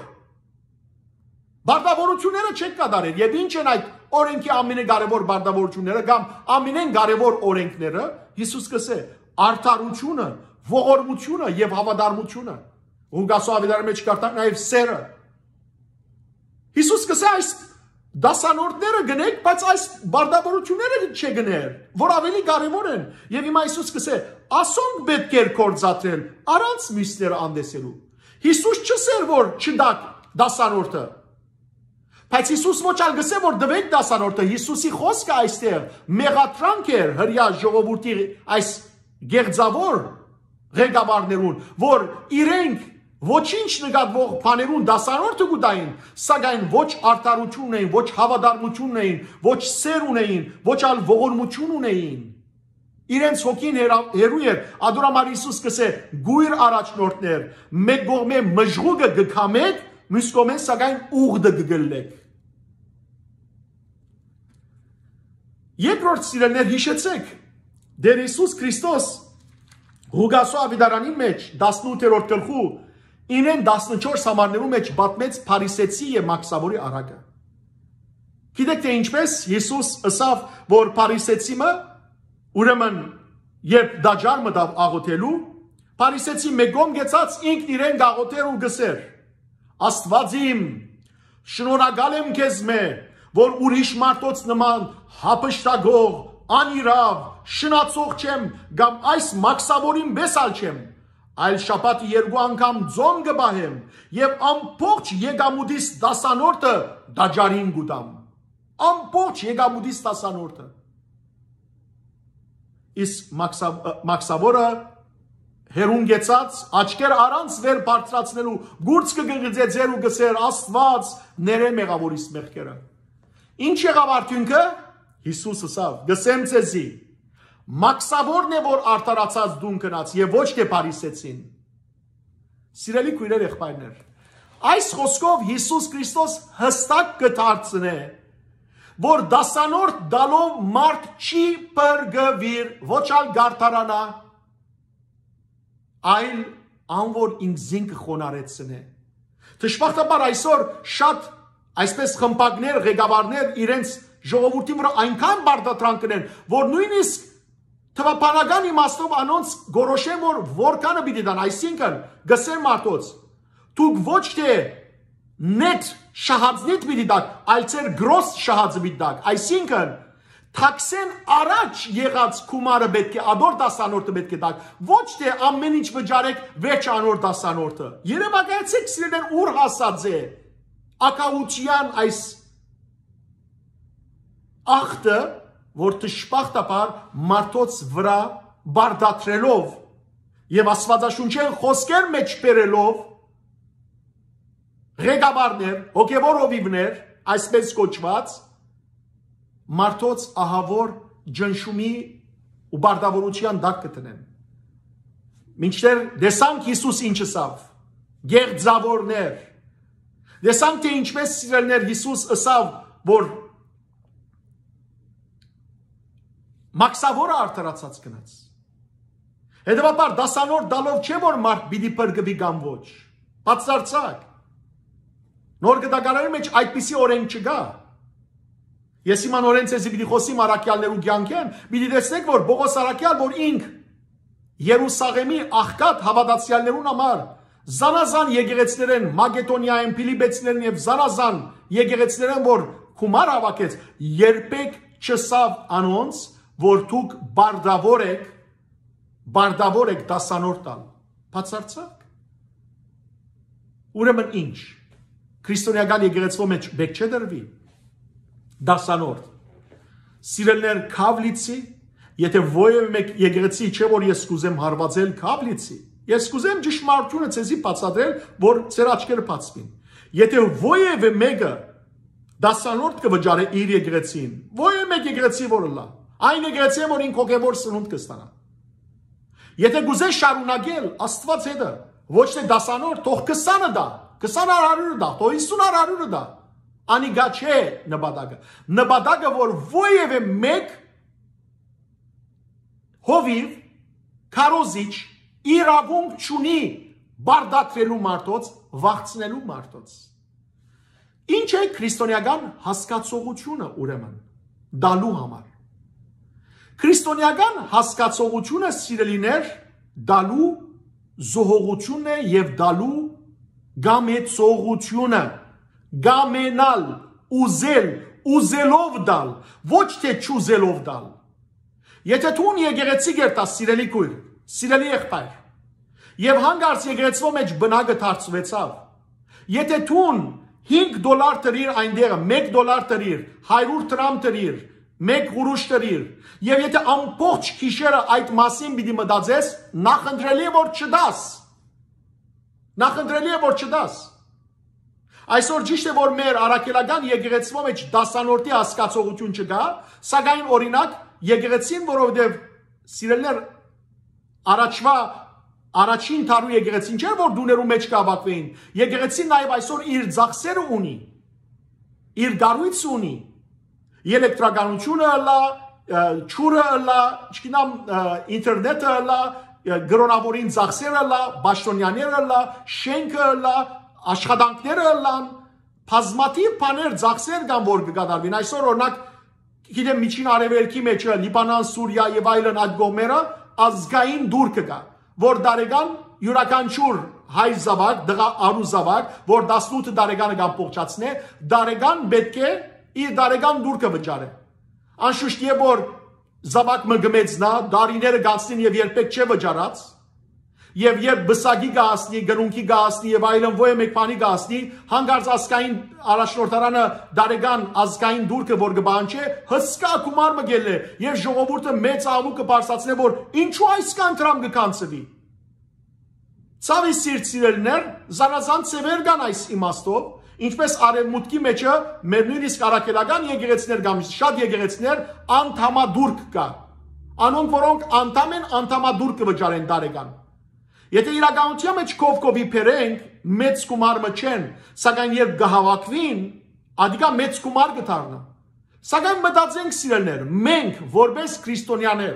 պարտաւորութիւնները չեք կատարեր։ Եւ ի՞նչ են այդ օրէնքի ամենակարեւոր պարտաւորութիւնները կամ ամենէն կարեւոր օրէնքները։ Յիսուս կ'ըսէ, արդարութիւնը, ողորմութիւնը եւ հաւատարմութիւնը։ Ղուկասու աւետարանի մէջ կարդանք նաեւ սերը։ Յիսուս կ'ըսէ, այս դասանորդները գնեք, բայց այս պարտաւորութիւնները չեք գներ, որ աւելի կարեւոր են։ Եւ հիմա Յիսուս կ'ըսէ, ասոնք պէտք էր գործադրել առանց միւսները անտեսելու։ Յիսուս չ'ըսէր որ չտաք դասանորդը, բայց Յիսուս ոչ ալ կ'ըսէ որ տուէք դասանորդը։ Յիսուսի խօսքը այստեղ մեղադրանք էր հրեայ ժողովուրդի այս գեղձաւոր ղեկավարներուն, որ իրենք ոչինչ նկատվող բաներուն դասանորդը կու տային, սակայն ոչ արդարութիւն ունէին, ոչ հաւատարմութիւն ունէին, ոչ սեր ունէին, ոչ ալ ողորմութիւն ունէին։ Իրենց հոգին հերա-, հեռու էր, ադոր համար Յիսուս կ'ըսէ, «Գոյր առաջնորդներ, մէկ կողմէ մժղուկը կը քամէք, միւս կողմէն սակայն ուղտը կը գլլէք»։ Երկրորդ, սիրելիներ, յիշեցէք, Տէր Յիսուս Քրիստոս Ղուկասու աւետարանին մէջ, տասնութերորդ գլխու, ինեն տասնչորս համարներու մէջ պատմեց փարիսեցի եւ մաքսաւորի առակը։ Գիտեք թէ ինչպէս Յիսուս ըսաւ որ փարիսեցի մը, ուրեմն երբ տաճար մտաւ աղօթելու, փարիսեցի մէկ կողմ գեցած ինքն իրեն կաղօթէր ու կ'ըսէր. «Աստուած իմ, շնորհակալ եմ քեզմէ, որ ուրիշ մարդոց նման հափշտակող, անիրաւ, շնացող չեմ կամ այս մաքսաւորին պէս ալ չեմ, այլ շաբաթը երկու անգամ ծոմ կը պահեմ եւ ամբողջ եկամուտիս տասանորդը տաճարին կու տամ»։ Ամբողջ եկամուտիս տասանորդը։ Իսկ մաքսա-, մաքսաւորը հեռուն գեցած, աչքերը առանց վեր բարձրացնելու, գուրցքը կը գծեծեր ու կ'ըսէր. «Աստուած, ներէ մեղաւորիս մեղքերը»։ Ինչ եղաւ արդիւնքը։ Յիսուս ըսաւ. «Կ'ըսեմ ձեզի, մաքսաւորն է որ արդարացած տուն գնաց եւ ոչ թէ փարիսեցին»։ Սիրելի քոյրեր, եղբայրներ, այս խօսքով Յիսուս Քրիստոս յստակ կը դարձնէ որ դասանորդ տալով մարդ չի փրկուիր, ոչ ալ կ'արդարանայ, այլ ան որ ինքզինքը խոնարհեցնէ։ Դժբախտաբար այսօր շատ այսպես խմբակներ, ղեկավարներ իրենց ժողովուրդին վրայ այնքան պարտադրանք կ'ընեն, որ նոյնիսկ թուաբանական իմաստով անոնց գորոշեն որ որքանը պիտի տան, այսինքն՝ կ'ըսեն մարդոց. «Դուք ոչ թէ նեթ շահածնիդ պիտի տաք, այլ ձեր գրոս շահածը պիտի տաք»։ Այսինքն՝ թաքսեն առաջ եղած գումարը պէտք է, ադոր դասանորդը պէտք է տաք, ոչ թէ ամէն ինչ վճարեք, վերջ անոր դասանորդը։ Երեւակայեցէք, սիրելիներ, ուր հասած է ակաուտեան այս ախտը, որ դժբախտաբար մարդոց վրայ պարտադրելով եւ Աստուածաշունչէն խօսքեր մէջ բերելով ղեկավարներ, հոգեւոր հովիւներ, այսպես կոչուած, մարդոց ահաւոր ճնշումի ու պարտավորութեան տակ կը դնեն։ Մինչդեռ տեսանք Յիսուս ինչ ըսաւ, գեղձաւորներ, տեսանք թէ ինչպես, սիրելիներ, Յիսուս ըսաւ, որ մաքսաւորը արդարացած գնաց։ Հետեւաբար դասանորդ տալով չէ, որ մարդ պիտի փրկուի կամ ոչ։ Բացարձակ։ Նոր կտակարանի մէջ այդպիսի օրենք չկայ։ Ես հիմա նորէն ձեզի պիտի խօսիմ առաքեալներու կեանքէն, պիտի տեսնէք, որ Պողոս առաքեալ, որ ինք Երուսաղէմի աղքատ հաւատացեալներուն համար զանազան եկեղեցիներէն, Մակեդոնիայէն, Փիլիպեցիներէն եւ զանազան եկեղեցիներէն, որ գումար հաւաքեց, երբեք չըսաւ անոնց, որ դուք պարտաւոր էք, պարտաւոր էք դասանորդ տալ։ Բացարձակ։ Ուրեմն ինչ, քրիստոնեական եկեղեցւոյ մէջ պէտք չէ դրուի դասանորդ։ Սիրելիներ, քաւ լիցի, եթե որեւէ մէկ եկեղեցի չէ, որ ես կուզեմ հարվածել, քաւ լիցի։ Ես կուզեմ ճշմարտութիւնը ձեզի բացատրել, որ ձեր աչքերը բացուին։ Եթե որեւէ մէկը դասանորդ կը վճարէ իր եկեղեցին, որեւէ մէկ եկեղեցի որ ըլլայ, այն եկեղեցին, որ ինք հոգեւոր սնունդ կը ստանայ։ Եթե կուզէ շարունակել, Աստուած հետը, ոչ թէ դասանորդ, թող քսանը տայ, քսան հարիւրը տայ, թող յիսուն հարիւրը տայ, անիկա չէ նպատակը։ Նպատակը, որ որեւէ մէկ հովիւ, քարոզիչ, իրաւունք չունի պարտադրելու մարդոց, վախցնելու մարդոց։ Ինչ է քրիստոնեական հասկացողությունը, ուրեմն, տալու համար։ Քրիստոնեական հասկացողությունը, սիրելիներ, տալու զոհողությունն է եւ տալու կամեցողությունը, կամենալ, ուզել, ուզելով տալ, ոչ թէ չուզելով տալ։ Եթե դուն եկեղեցի կերտաս, սիրելի քույր, սիրելի եղբայր, եւ հանկարծ եկեղեցւոյ մէջ բնակը դարձուեցաւ, եթե դուն հինգ դոլար դրիր այնտեղը, մէկ դոլար դրիր, հարիւր դրամ դրիր, մէկ ղուրուշ դրիր, եւ եթե ամբողջ գիշերը այդ մասին պիտի մտածես, նախընտրելի է, որ չտաս։ Նախընտրելի է, որ չտաս։ Այսօր ճիշդ է, որ մեր առաքելական եկեղեցւոյ մէջ դասանորդի հասկացողութիւն չկայ, սակայն, օրինակ, եկեղեցին, որովհետեւ, սիրելիներ, առաջվա, առաջին դարու եկեղեցին չէ, որ տուներու մէջ կ'հաւաքուէին։ Եկեղեցին նաեւ այսօր իր ծախսերը ունի, իր կառոյցը ունի, էլեկտրականությունը ըլլայ, ը, ջուրը ըլլայ, չգիտեմ, ը, ինտերնետը ըլլայ, ը, կրոնաւորին ծախսերը ըլլայ, պաշտոնյաները ըլլայ, շէնքը ըլլայ, աշխատանքները ըլլան, բազմաթիւ բաներ, ծախսեր կան, որ կը կատարուին։ Այսօր, օրինակ, գիտեմ, Միջին Արեւելքի մէջը, Լիբանան, Սուրիա եւ այլն, այդ կողմերը ազգային տուրքը կայ, որ տարեկան իւրաքանչիւր հայ զաւակ, տղայ, արու զաւակ, որ տասնութ տարեկանը կ'ամբողջացնէ, տարեկան պէտք է իր տարեկան տուրքը վճարէ։ Անշուշտ, երբ որ զաւակ մը կը մեծնայ, տարիները կ'անցնին եւ երբեք չէ վճարած, եւ երբ պսակի կը հասնի, կնունքի կը հասնի եւ այլն, որեւէ մէկ բանի կը հասնի, հանկարծ ազգային առաջնորդարանը տարեկան ազգային տուրքը որ կը պահանջէ, հսկայ գումար մը կ'ելլէ եւ ժողովուրդը մեծ աղմուկ կը բարձրացնէ, որ ինչու այսքան դրամ կը գանձուի։ Ցաւի սիրտ, սիրելիներ, զանազան ձեւեր կան այս իմաստով, ինչպես Արեւմուտքի մէջը մեր նոյնիսկ առաքելական եկեղեցիներ կամ շատ եկեղեցիներ անդամատուրք կայ։ Անոնք, որոնք անդամ են, անդամատուրք կը վճարեն տարեկան։ Եթե իրականության մէջ քով-քովի բերենք, մեծ գումար մը չեն, սակայն երբ կը հաւաքուին, ադիկա մեծ գումար կը դառնայ։ Սակայն մտածենք, սիրելիներ, մենք, որպես քրիստոնեաներ,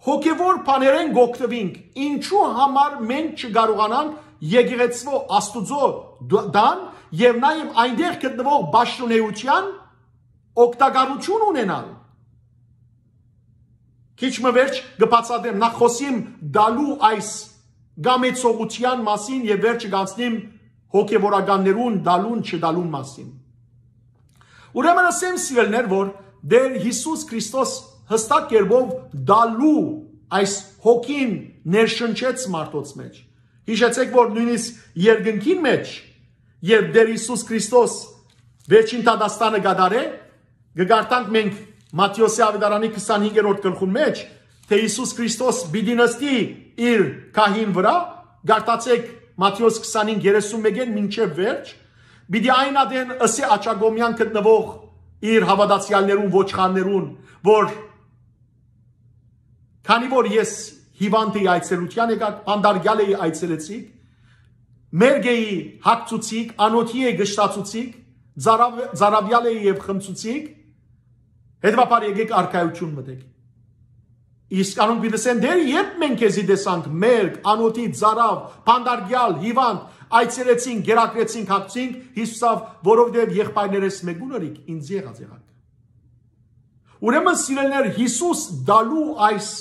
հոգեվոր բաներէն կ'օգտուինք, ինչու համար մենք չկարողանանք եկեղեցւոյ, Աստուծոյ դ-, տան եւ նաեւ այնտեղ գտնուող պաշտօնէութեան օգտակարութիւն ունենալ։ Քիչ մը վերջ կը բացատրեմ, նախ խօսիմ տալու այս կամեցողութեան մասին եւ վերջը կանցնիմ հոգեվորականներուն տալուն, չտալուն մասին։ Ուրեմն, ասեմ, սիրելիներ, որ Տէր Յիսուս Քրիստոս յստակ կերպով տալու այս հոգին ներշնչեց մարդոց մեջ։ Յիշեցէք, որ նոյնիսկ երկնքին մեջ, երբ Տէր Յիսուս Քրիստոս վերջին դատաստանը կատարէ, կը կարդանք մենք Մատթէոսի աւետարանի քսանհինգերորդ գլխուն մեջ, թէ Յիսուս Քրիստոս պիտի նստի իր գահին վրայ, կարդացէք Մատթէոս քսանհինգ երեսուն մէկէն մինչեւ վերջ, պիտի այն ատեն ըսէ աջակողմեան գտնուող իր հաւատացեալներուն, ոչխարներուն, որ քանի որ ես հիվանդ էի, այցելութեան եկաք, բանտարկեալ էի, այցելեցիք, մերկ էի, հագցուցիք, անօթի էի, կշտացուցիք, ծարաւ-, ծարաւեալ էի եւ խմցուցիք, հետեւաբար եկէք արքայութիւն մտեք։ Իսկ անոնք պիտի ըսեն. «Տէր, երբ մենք քեզի տեսանք մերկ, անօթի, ծարաւ, բանտարկեալ, հիվանդ, այցելեցինք, կերակրեցինք, հագցինք»։ Յիսուս ըսաւ. «Որովհետեւ եղբայրներէս մէկուն ըրիք, ինձ եղած եղաք»։ Ուրեմն, սիրելիներ, Յիսուս տալու այս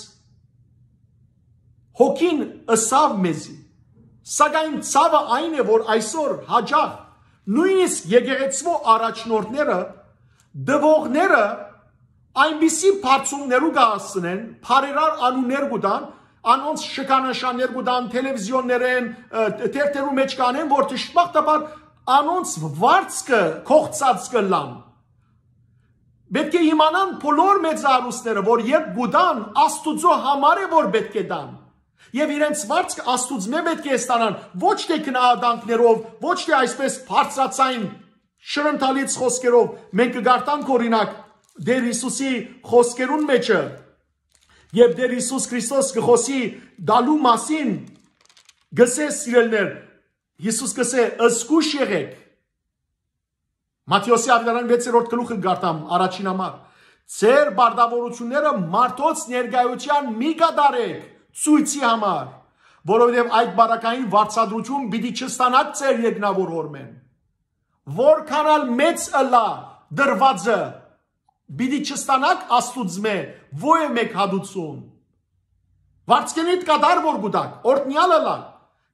հոգին ըսաւ մեզի, սակայն ցաւը այն է, որ այսօր յաճախ նոյնիսկ եկեղեցւոյ առաջնորդները, տուողները այնպիսի բարձունքներու կը հասցնեն, բարերար անուններ կու տան, անոնց շքանշաններ կու տան, թելեվիզիոններէն, ը, թերթերու մեջ կանեն, որ դժբախտաբար անոնց վարձքը կոխցած կ'ըլլան։ Պէտք է իմանան բոլոր մեծահարուստները, որ երբ կու տան, Աստուծոյ համար է, որ պէտք է տան։ Եւ իրենց վարձքը Աստուծմէ պէտք է ստանան, ոչ թէ գնահատանքներով, ոչ թէ այսպես բարձրաձայն շրնթալից խօսքերով։ Մենք կը կարդանք, օրինակ, Տէր Յիսուսի խօսքերուն մէջը, երբ Տէր Յիսուս Քրիստոս կը խօսի տալու մասին, կ'ըսէ, սիրելիներ, Յիսուս կ'ըսէ. «Զգոյշ եղէք»։ Մատթէոսի աւետարան վեցերորդ գլուխը կ'արդամ առաջին համար. «Ձեր պարտաւորութիւնները մարդոց ներկայութեան մի կատարէք ցոյցի համար, որովհետեւ այդ պարագային վարձատրութիւն պիտի չստանաք ձեր երկնաւոր Հօրմէն։ Որքան ալ մեծ ըլլայ տրուածը, պիտի չստանաք Աստուծմէ որեւէ մէկ հատուցում։ Վարձքենիդ կատար որ կու տաք, օրհնեալ ըլլաք,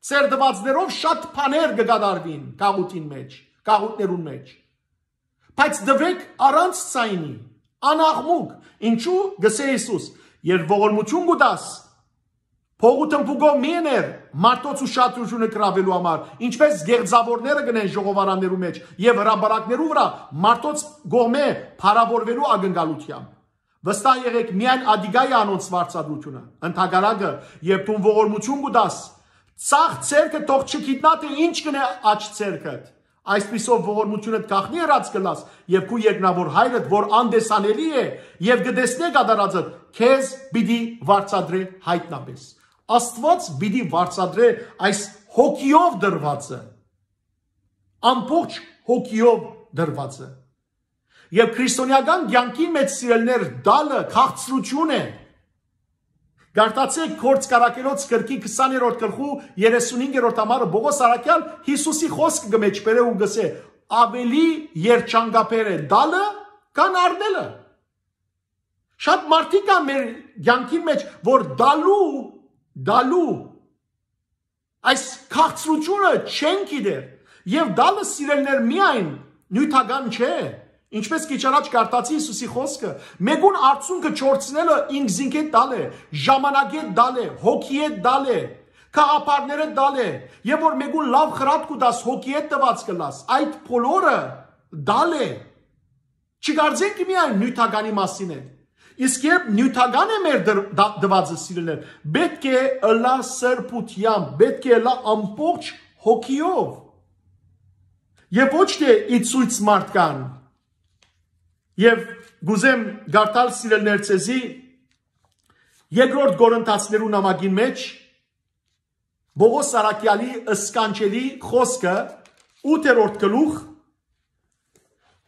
ձեր տուածներով շատ բաներ կը կատարուին գաղութին մեջ, գաղութներուն մեջ։ Բայց տուէք առանց ձայնի, անաղմուկ»։ Ինչու՞, կ'ըսէ Յիսուս. «Երբ ողորմութիւն կու տաս, փողու թմբուկով մի ըներ մարդոց ուշադրութիւնը գրաւելու համար, ինչպես գեղձաւորները կ'ընեն ժողովարաններու մեջ եւ հրապարակներու վրայ մարդոց կողմէ փառաւորուելու ակնկալութեամբ։ Վստահ եղէք, միայն ատիկա է անոնց վարձատրութիւնը։ Ընդհակառակը, երբ դուն ողորմութիւն կու տաս, ձախ ձեռքը թող չգիտնայ թէ ինչ կ'ընէ աջ ձեռքդ։ Այսպիսով ողորմութիւնդ գաղտնի ըրած կ'ըլլաս, եւ քու երկնաւոր Հայրդ, որ անտեսանելի է եւ կը տեսնէ կատարածդ, քեզ պիտի վարձատրէ յայտնապէս»։ Աստուած պիտի վարձատրէ այս հոգիով տրուածը, ամբողջ հոգիով տրուածը։ Եւ քրիստոնեական կեանքին մեջ, սիրելիներ, տալը քաղցրութիւն է։ Կարդացէք Գործք առաքելոց գրքի քսաներորդ գլխու երեսունհինգերորդ համարը, Պողոս առաքեալ Յիսուսի խօսքը կը մեջբերէ ու կ'ըսէ. «Աւելի երջանկաբեր է տալը, քան առնելը»։ Շատ մարդիկ կան մեր կեանքին մեջ, որ տալու, տալու այս քաղցրութիւնը չեն գիտեր։ Եւ տալը, սիրելիներ, միայն նիւթական չէ։ Ինչպես քիչ առաջ կարդացի Յիսուսի խօսքը, մէկուն արցունքը չորցնելը ինքզինքեդ տալ է, ժամանակեդ տալ է, հոգիեդ տալ է, գաղափարներդ տալ է, եւ որ մէկուն լաւ խրատ կու տաս, հոգիեդ տուած կ'ըլլաս, այդ բոլորը տալ է։ Չկարծենք միայն նիւթականի մասին է։ Իսկ երբ նիւթական է մեր դր-, դա-, տուածը, սիրելիներ, պէտք է ըլլայ սրբութեամբ, պէտք է ըլլայ ամբողջ հոգիով։ Եւ ոչ թէ ի ցոյց մարդկան։ Եւ կ'ուզեմ կարդալ, սիրելիներ, ձեզի երկրորդ Կորինթացիներու նամակին մեջ Պողոս առաքեալի սքանչելի խօսքը, ութերորդ գլուխ,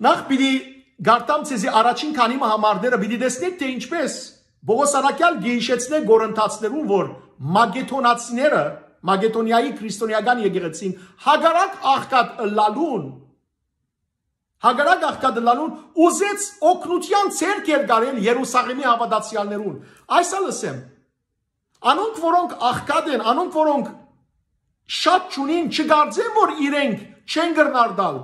նախ պիտի կարդամ ձեզի առաջին քանի մը համարները, պիտի տեսնեք, թէ ինչպես Պողոս առաքեալ կը յիշեցնէ Կորինթացիներուն, որ մակեդոնացիները, Մակեդոնիայի քրիստոնեական եկեղեցին հակառակ աղքատ ըլլալուն, հակառակ աղքատ ըլլալուն ուզեց օգնութեան ձեռք երկարել Երուսաղեմի հաւատացեալներուն։ Այս ալ ըսեմ, անոնք, որոնք աղքատ են, անոնք, որոնք շատ չունին, չկարծեն, որ իրենք չեն կրնար տալ։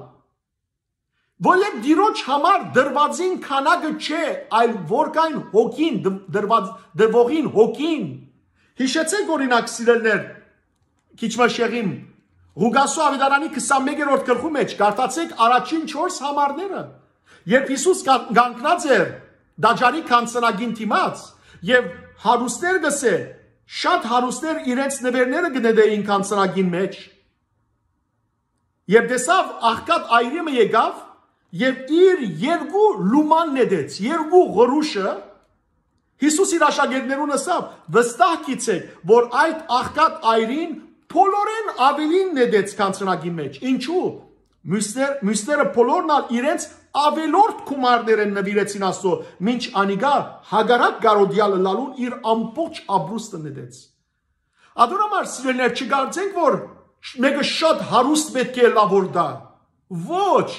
որովհետեւ Տիրոջ համար դրուածին քանակը չէ, այլ որքան հոգին դ-, դրուած, դրուողին հոգին։ Յիշեցէք, օրինակ, սիրելներ, քիչ մը շեղիմ, Ղուկասու աւետարանի քսանմեկերորդ գլխու մէջ կարդացէք առաջին չորս համարները, երբ Յիսուս կա-, կանգնած էր տաճարի գանձնակին դիմաց, եւ հարուստներ գսէ, շատ հարուստներ իրենց նուէրները կը նետէին գանձնակին մէջ, եւ տեսաւ աղքատ այրի մը եկաւ եւ իր երկու լուման նետեց, երկու ղրուշը։ Յիսուս իր աշակերտներուն ըսաւ. «Վստահ գիցէք, որ այդ աղքատ այրին բոլորէն աւելին նետեց գանձնակի մէջ»։ Ինչու՞։ Մյուսներ-, մյուսները բոլորն ալ իրենց աւելորդ գումարներէն նուիրեցին Աստծո, մինչ անիկա հակառակ կարօտեալ ըլլալուն իր ամբողջ ապրուստը նետեց։ Ատոր համար, սիրելիներ, չկարծենք, որ մէկը շատ հարուստ պէտք է ըլլայ որ տայ։ Ոչ։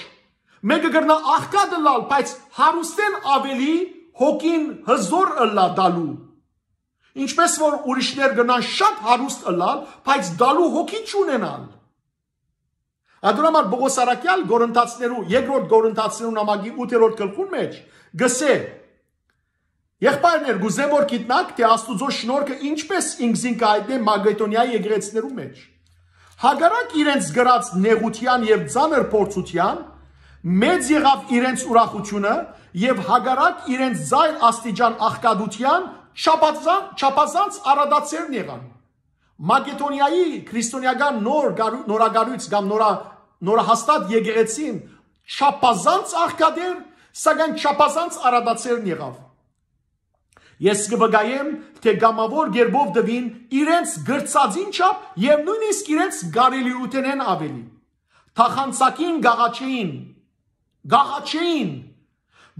Մէկը կրնայ աղքատ ըլլալ, բայց հարուստէն աւելի հոգին հզոր ըլլայ տալու։ Ինչպէս որ ուրիշներ կրնան շատ հարուստ ըլլալ, բայց տալու հոգի չունենալ։ Ատոր համար Պողոս առաքեալ Կորինթացիներու, երկրորդ Կորինթացիներու նամակի ութերորդ գլխուն մէջ գսէ. «Եղբայրներ, կ'ուզեմ որ գիտնաք, թէ Աստուծոյ շնորհքը ինչպէս ինքզին կը հայտնէ Մակեդոնիայի եկեղեցիներու մէջ։ Հակառակ իրենց կրած նեղութեան եւ ծանր փորձութեան, մեծ եղաւ իրենց ուրախութիւնը եւ հակառակ իրենց ծայր աստիճան աղքատութեան չափազան-, չափազանց արատացերն եղան»։ Մակեդոնիայի քրիստոնեական նոր գարու-, նորագարոյց կամ նորա-, նորահաստատ եկեղեցին չափազանց աղքատ էր, սակայն չափազանց արատացերն եղաւ։ Ես կը վկայեմ, թէ կամաւոր կերպով տուին իրենց կրցածին չափ եւ նոյնիսկ իրենց կարելիութենէն աւելի։ Թախանցակին կ'աղաչէին, կ'աղաչէին,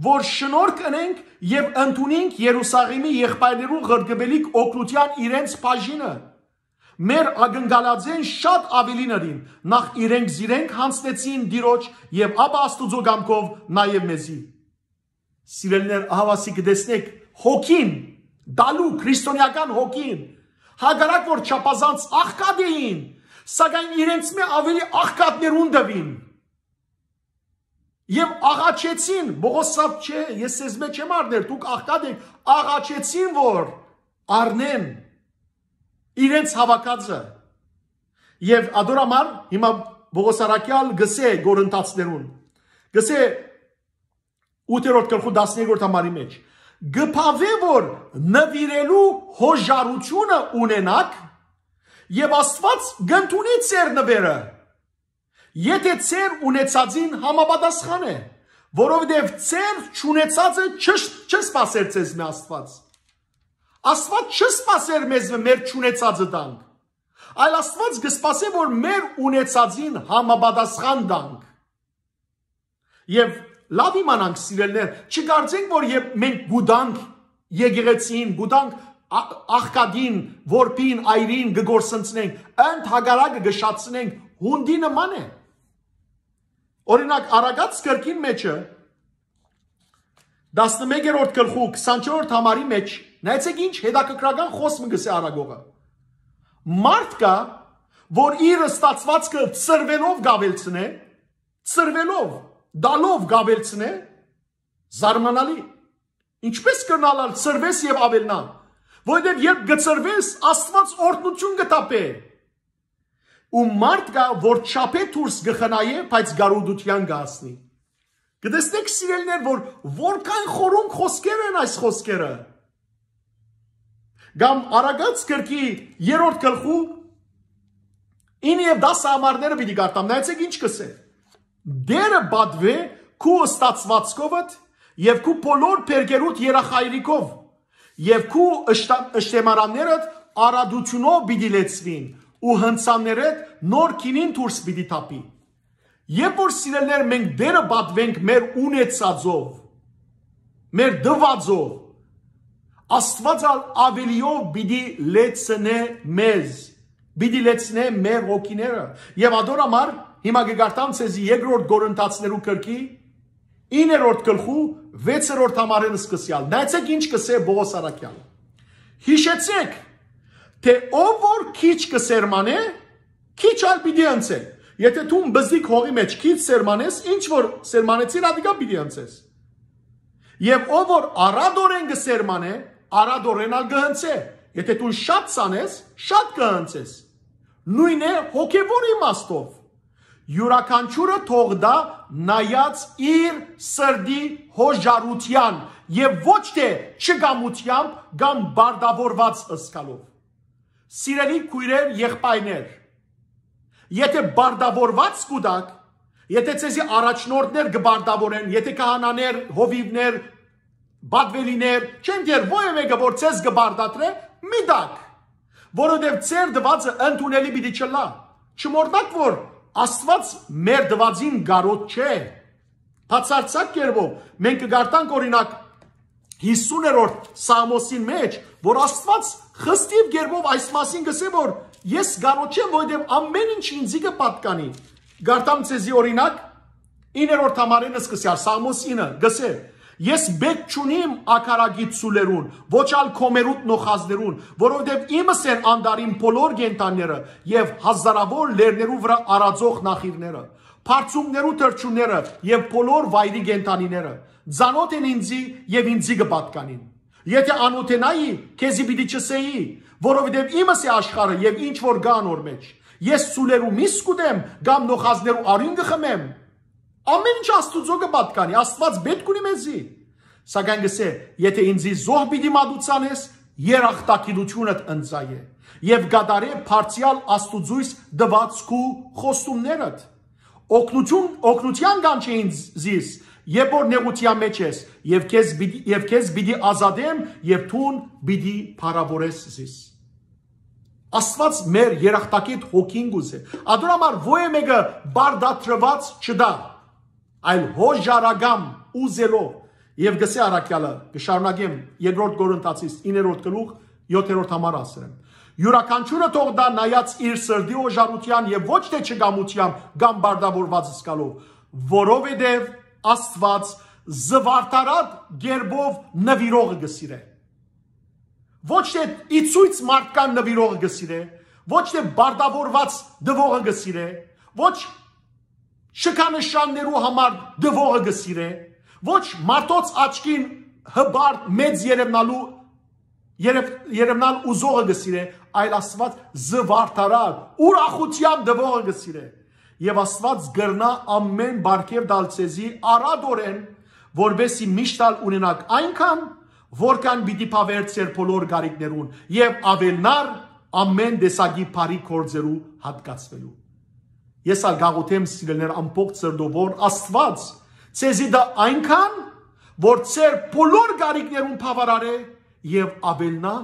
որ շնորհք ընենք եւ ընդունենք Երուսաղէմի եղբայրներու ղրկուելիք օգնութեան իրենց բաժինը։ Մեր ակնկալածէն շատ աւելին ըրին, նախ իրենք զիրենք յանձնեցին Տիրոջ եւ ապա Աստուծոյ կամքով նաեւ մեզի։ Սիրելիներ, ահաւասի կը տեսնէք հոգին, տալու քրիստոնեական հոգին, հակառակ որ չափազանց աղքատ էին, սակայն իրենց մէ աւելի աղքատներուն տուին։ Եւ աղաչեցին, Պողոս սա չէ, ես ձեզ մէջ չեմ առներ, դուք աղքատ էք, աղաչեցին որ առնեն իրենց հաւաքածը։ Եւ ատոր համար հիմա Պողոս առաքեալ գսէ Կորինթացիներուն, գսէ ութերորդ գլխու տասներկերորդ համարի մէջ. «Կը բաւէ որ նուիրելու հոժարութիւնը ունենաք եւ Աստուած կ'ընդունի ձեր նուէրը, եթէ ձեր ունեցածին համապատասխան է, որովհետեւ ձեր չունեցածը չշ-, չսպասեր ձեզմէ Աստուած։ Աստուած չսպասեր մեզմէ մեր չունեցածը տանք, այլ Աստուած կը սպասէ որ մեր ունեցածին համապատասխան տանք»։ Եւ լաւ իմանանք, սիրելիներ, չկարծենք որ երբ մենք կու տանք եկեղեցին, կու տանք ա-, աղքատին, որբին, այրին կը կորսնցնենք, ընդ հակառակը կը շատցնենք, հունդի նման է։ Օրինակ, Առակաց կրկին մէջը, տասնմեկերորդ գլխու քսանչորսերորդ համարի մէջ, նայեցեք ինչ հետաքրքրական խօս մը գսէ առակողը։ Մարդ կայ, որ իր ստացվածքը ծրուելով կ'աւելցնէ, ծրուելով, տալով կ'աւելցնէ, զարմանալի։ Ինչպէս կրնալ ալ ծրվես եւ աւելնա, որովհետեւ երբ կը ծրվես, Աստուած օրհնութիւն կը տապէ։ Ու մարդ կայ, որ չափէ դուրս կը խնայէ, բայց գարուտութեան կը հասնի։ Կը տեսնէք, սիրելիներ, որ որքան խորունկ խօսքեր են այս խօսքերը։ Կամ Առակաց կրկի երրորդ գլխու ինը եւ տասը համարները պիտի կարդամ, նայեցեք ինչ կսէ. «Տերը պատուէ քու ստացվածքովդ եւ քու բոլոր բերկերուդ երախայրիկով, եւ քու ըշտա-, ըշտեմարաններդ արատութիւնով պիտի լեցուին ու հնցաններդ նոր գինին դուրս պիտի թափի»։ Երբ որ, սիրելիներ, մենք Տերը պատվենք մեր ունեցածով, մեր տուածով, Աստուած ալ աւելիով պիտի լեցնէ մեզ, պիտի լեցնէ մեր հոգիները։ Եւ ատոր համար հիմա կը կարդամ ձեզի երկրորդ Կորինթացիներու գրքի իններորդ գլխու վեցերորդ համարէն սկսեալ։ Նայեցեք ինչ կսէ Պողոս առաքեալ. «Յիշեցեք, թէ ով որ քիչ կը սերմանէ, քիչ ալ պիտի ընցէ, Եթէ դուն բզիկ հողի մէջ քիչ սերմանես, ինչ որ սերմանեցիր, ատիկա պիտի ընծես։ Եւ ով որ առատորեն կը սերմանէ, առատորեն ալ կը ընծէ։ Եթէ դուն շատ սանես, շատ կը ընծես։ Նոյն է հոգեվոր իմաստով։ Իւրաքանչիւրը թող տայ նայած իր սրտի հոժարութեան եւ ոչ թէ չկամութեամբ կամ պարտաւորուած ըսկալով։ Սիրելի քոյրեր, եղբայրներ, եթէ պարտաւորուած կու տաք, եթէ ձեզի առաջնորդներ կը պարտաւորեն, եթէ քահանաներ, հովիւներ, պատուելիներ, չեմ դեր, ո՞յ է մէկը որ ձեզ կը պարտադրէ, մի տաք, որովհետեւ ձեր տուածը ընդունելի պիտի չըլլայ։ Չմոռնաք որ Աստուած մեր տուածին կարօտ չէ։ Բացարձակ կերպով մենք կը կարդանք, օրինակ, հիսուներորդ Սաղմոսին մէջ, որ Աստուած խստիւ կերպով այս մասին կ'ըսէ, որ ես կարօտ չեմ, որովհետեւ ամէն ինչ ինծի կը պատկանի։ Կարդամ ձեզի օրինակ, իններորդ համարէն սկսեալ, Սաղմոս ինը, կ'ըսէ. «Ես պէք չունիմ ակարագիտ սուլերուն, ոչ ալ քոմերուտ նոխազներուն, որովհետեւ իմս են անտառին բոլոր կենդանիները եւ հազարաւոր լեռներու վրայ արածող նախիրները, բարձունքներու թռչունները եւ բոլոր վայրի կենդանիները, ծանօթ են ինծի եւ ինծի կը պատկանին։ Եթէ անօթենայի, քեզի պիտի չըսէի, որովհետեւ իմս է աշխարհը եւ ինչ որ կայ անոր մէջ։ Ես սուլերու միս կ'ուտեմ կամ նոխազներու արիւն կը խմեմ»։ Ամէն ինչ Աստուծոյ կը պատկանի, Աստուած պէտք ունի մեզի։ Սակայն կ'ըսէ. «Եթէ ինծի զոհ պիտի մատուցանես, երախտագիտութիւնդ ընծայ է եւ կատարէ բարձեալ Աստուծոյս տուած քու խոստումներդ։ Օգնութիւն, օգնութեան կանչէ ինձ զիս, երբ որ նեղութեան մէջ ես, եւ քեզ պիտի, եւ քեզ պիտի ազատեմ, եւ դուն պիտի փառաւորես զիս»։ Աստուած մեր երախտագետ հոգին կ'ուզէ։ Ատոր համար ո՞յ է մէկը պարտադրուած չտայ, այլ հոժարակամ ուզելով, եւ կ'ըսէ առաքեալը, կը շարունակեմ երկրորդ Կորինթացիս իններորդ գլուխ, յոթերորդ համարը ասել եմ. «Իւրաքանչիւրը թող տայ նայած իր սրտի օժարութեան եւ ոչ թէ չկամութեան կամ պարտաւորուած զգալով, որովհետեւ Աստուած զվարդարատ գերբով նուիրողը կը սիրէ»։ Ոչ թէ ի ցոյց մարդկան նուիրողը կը սիրէ, ոչ թէ պարտաւորուած տուողը կը սիրէ, ոչ շքանշաններու համար տուողը կը սիրէ, ոչ մարդոց աչքին հպարտ մեծ երեւնալու, երեւ-, երեւնալ ուզողը կը սիրէ, այլ Աստուած զվարդարար, ուրախութեան տուողը կը սիրէ։ Եւ Աստուած կրնայ ամէն պարգեւ տալ ձեզի առատորեն, որպէսզի միշտ ալ ունենաք այնքան, որքան պիտի բաւեր ձեր բոլոր կարիքներուն եւ աւելնար ամէն տեսակի բարի գործերու յատկացուելու։ Ես ալ կաղոթեմ, սիրելիներ, ամբողջ սրտով, որ Աստուած ձեզի տայ այնքան, որ ձեր բոլոր կարիքներուն բաւարարէ եւ աւելնայ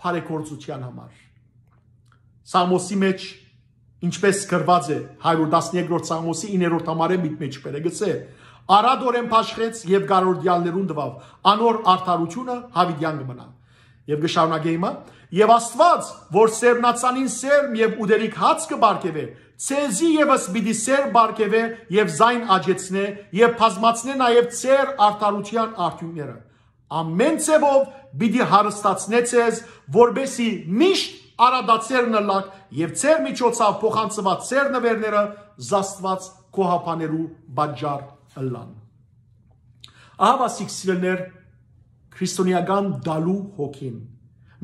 բարեգործութեան համար։ Սաղմոսի մէջ, ինչպէս գրուած է, հարիւր տասներկրորդ Սաղմոսի իններորդ համարէ միտմէջ պերեգսէ, առատորեն բաշխեց եւ կարորդեալներուն տուաւ, անոր արդարութիւնը յաւիտեան կը մնայ։ Եւ կը շարունակէ հիմա. «Եւ Աստուած, որ սերմնացանին սերմ եւ ուտելիք հաց կը պարգեւէ, ձեզի եւս պիտի սերմ պարգեւէ եւ զայն աճեցնէ եւ բազմացնէ նաեւ ձեր արդարութեան արդիւնքները։ Ամէն ձեւով պիտի հարստացնէ ձեզ, որպէսզի միշտ առատաձեռն ըլլաք եւ ձեր միջոցով փոխանցուած ձեր նուերները զաստուած գոհաբաներու պատճառ ըլլան»։ Ահա, ասիկ սիրելիներ, քրիստոնեական տալու հոգին։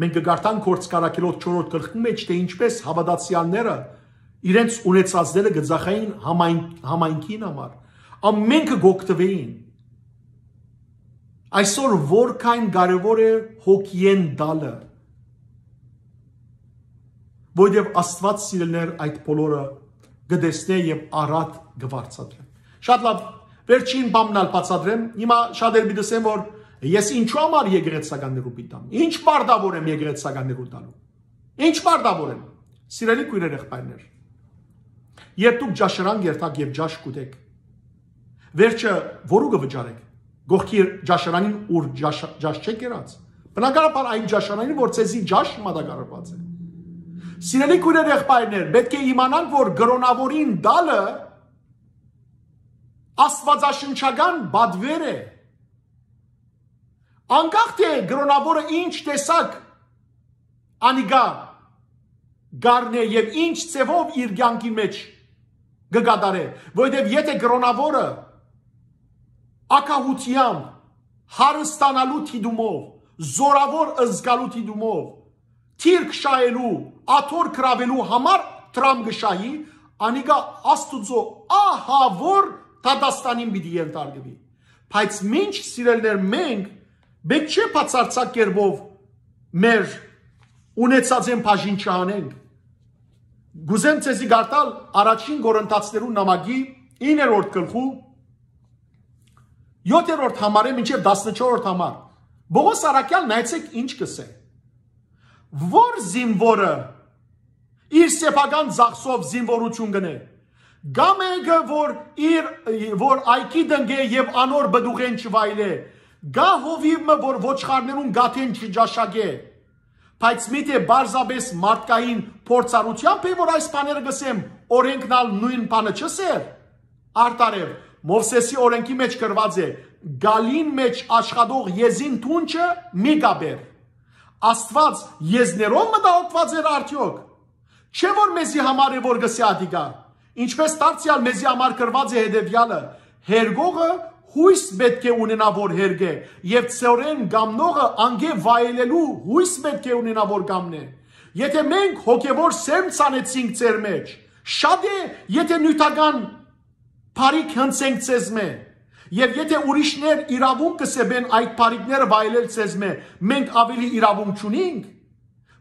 Մենք կը կարդանք Գործք առաքելոց չորրորդ գլխի մէջ, թէ ինչպէս հաւատացեալները իրենց ունեցածները կը ծախէին համայն-, համայնքին համար, ամէնքը կ'օգտուէին։ Այսօր որքան կարեւոր է հոգիեն տալը, որովհետեւ Աստուած, սիրելիներ, այդ բոլորը կը տեսնէ եւ առատ կը վարձատրէ։ Շատ լաւ, վերջին բանն ալ բացատրեմ, հիմա շատեր պիտի ասեն, որ ես ինչու համար եկեղեցականներու պիտի տամ, ինչ պարտաւոր եմ եկեղեցականներու տալու, ինչ պարտաւոր եմ, սիրելի քոյրեր, եղբայրներ, երբ դուք ճաշարան կերտաք եւ ճաշ կ'ուտեք, վերջը որու կը վճարեք, կողքի ճաշարանին, ուր ճաշ-, ճաշ չեք կերած, բնականաբար այն ճաշարանին, որ ձեզի ճաշ մատակարարուած է։ Սիրելի քոյրեր, եղբայրներ, պէտք է իմանանք, որ կրոնաւորին տալը աստուածաշնչական պատուեր է։ Անկախ թէ կրոնաւորը ինչ տեսակ անիկա կ'առնէ եւ ինչ ձեւով իր կեանքին մէջ կը կատարէ, որովհետեւ եթէ կրոնաւորը ակահութեամբ, հարստանալու դիտումով, զորաւոր զգալու դիտումով, թիրք շահելու, աթոռ գրաւելու համար դրամ կը շահի, անիկա Աստուծոյ ահաւոր դատաստանին պիտի ենթարկուի։ Բայց մինչ, սիրելիներ, մենք պէտք չէ բացարձակ կերպով մեր ունեցածէն բաժին չանենք։ Կ'ուզեմ ձեզի կարդալ առաջին Կորինթացիներուն նամակի իններորդ գլխու յոթերորդ համարէ մինչեւ տասնչորսերորդ համար։ Պողոս առաքեալ, նայեցէք ինչ կ'ըսէ. «Ո՞ր զինուորը իր սեփական ծախսով զինուորութիւն կ'ընէ, կամ մէկը, որ իր, որ այգի տնկէ եւ անոր պտուղէն չվայլէ, գա հովիւ մը, որ ոչխարներուն գաթէն չճաշակէ»։ Բայց միթէ պարզապէս մարդկային փորձառութեա՞մբ է, որ այս բաները կ'ըսեմ, օրէնքն ալ նոյն բանը չ'ըսէր։ Արդարեւ, Մովսէսի օրէնքի մէջ գրուած է. «Գալին մէջ աշխատող եզին դունչը մի կապեր»։ Աստուած եզներով մտահոգուած էր արդեօք։ Չէ՞ որ մեզի համար է, որ կ'ըսէ ատիկա։ Ինչպէս դարձեալ մեզի համար գրուած է հետեւեալը. «Հերկողը յոյս պէտք է ունենայ, որ հերկէ, եւ ցորեն կամնողը անկէ վայելելու յոյս պէտք է ունենայ, որ կամնէ»։ Եթէ մենք հոգեւոր սերմ ցանեցինք ձեր մէջ, շատ է, եթէ նիւթական բարիք հնցենք ձեզմէ, եւ եթէ ուրիշներ իրաւունք կը սեպեն այդ բարիքները վայելել ձեզմէ, մենք աւելի իրաւունք չունի՞նք։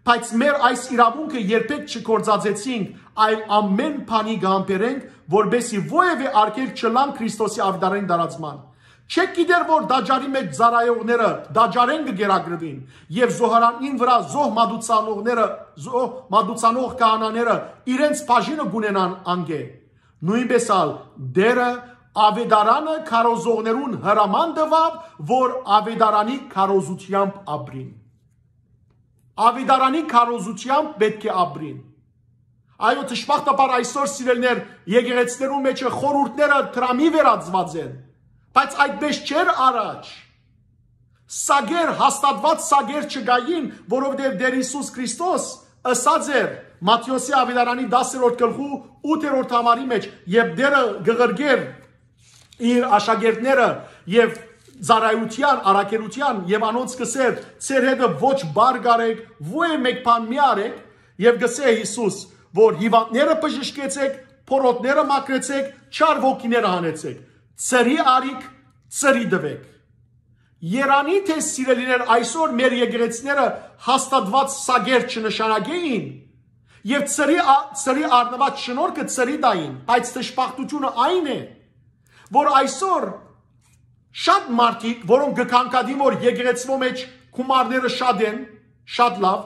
Բայց մեր այս իրաւունքը երբեք չգործածեցինք, այլ ամէն բանի կ'համբերենք, որպէսզի որեւէ արգելք չըլլանք Քրիստոսի աւետարանին տարածման։ Չէ՞ք գիտեր, որ տաճարի մէջ ծառայողները տաճարէն կը կերակրուին, եւ զոհարանին վրայ զոհ մատուցանողները, զոհ մատուցանող քահանաները իրենց բաժինը կ'ունենան անկէ։ Նոյնպէս ալ Տէրը աւետարանը քարոզողներուն հրաման տուաւ, որ աւետարանի քարոզութեամբ ապրին։ Աւետարանի քարոզութեամբ պէտք է ապրին։ Այո, դժբախտաբար այսօր, սիրելիներ, եկեղեցիներուն մէջը խորհուրդները դրամի վերածուած են, բայց այդպէս չէր առաջ։ Սակեր, հաստատուած սակեր չկային, որովհետեւ Տէր Յիսուս Քրիստոս ըսած էր Մատթէոսի աւետարանի տասներորդ գլխու ութերորդ համարի մէջ, եւ Տէրը կը ղրկէր իր աշակերտները եւ ծառայութեան, առաքելութեան, եւ անոնց կ'ըսէր. «Ձեր հետը ոչ բառ կարեք, ոչ մէկ բան մի արեք»։ Եւ կ'ըսէ Յիսուս, որ հիւանդները բժշկեցէք, փորոտները մաքրեցէք, չար ոգիները հանեցէք, ծրի արիք, ծրի տուէք։ Երանի թէ, սիրելիներ, այսօր մեր եկեղեցիները հաստատուած սակեր չնշանակէին, եւ ծրի ա-, ծրի առնուած շնորհքը ծրի տային, բայց դժբախտությունը այն է, որ այսօր շատ մարդիկ, որոնք կը գանգատին, որ եկեղեցւոյ մէջ գումարները շատ են, շատ լաւ,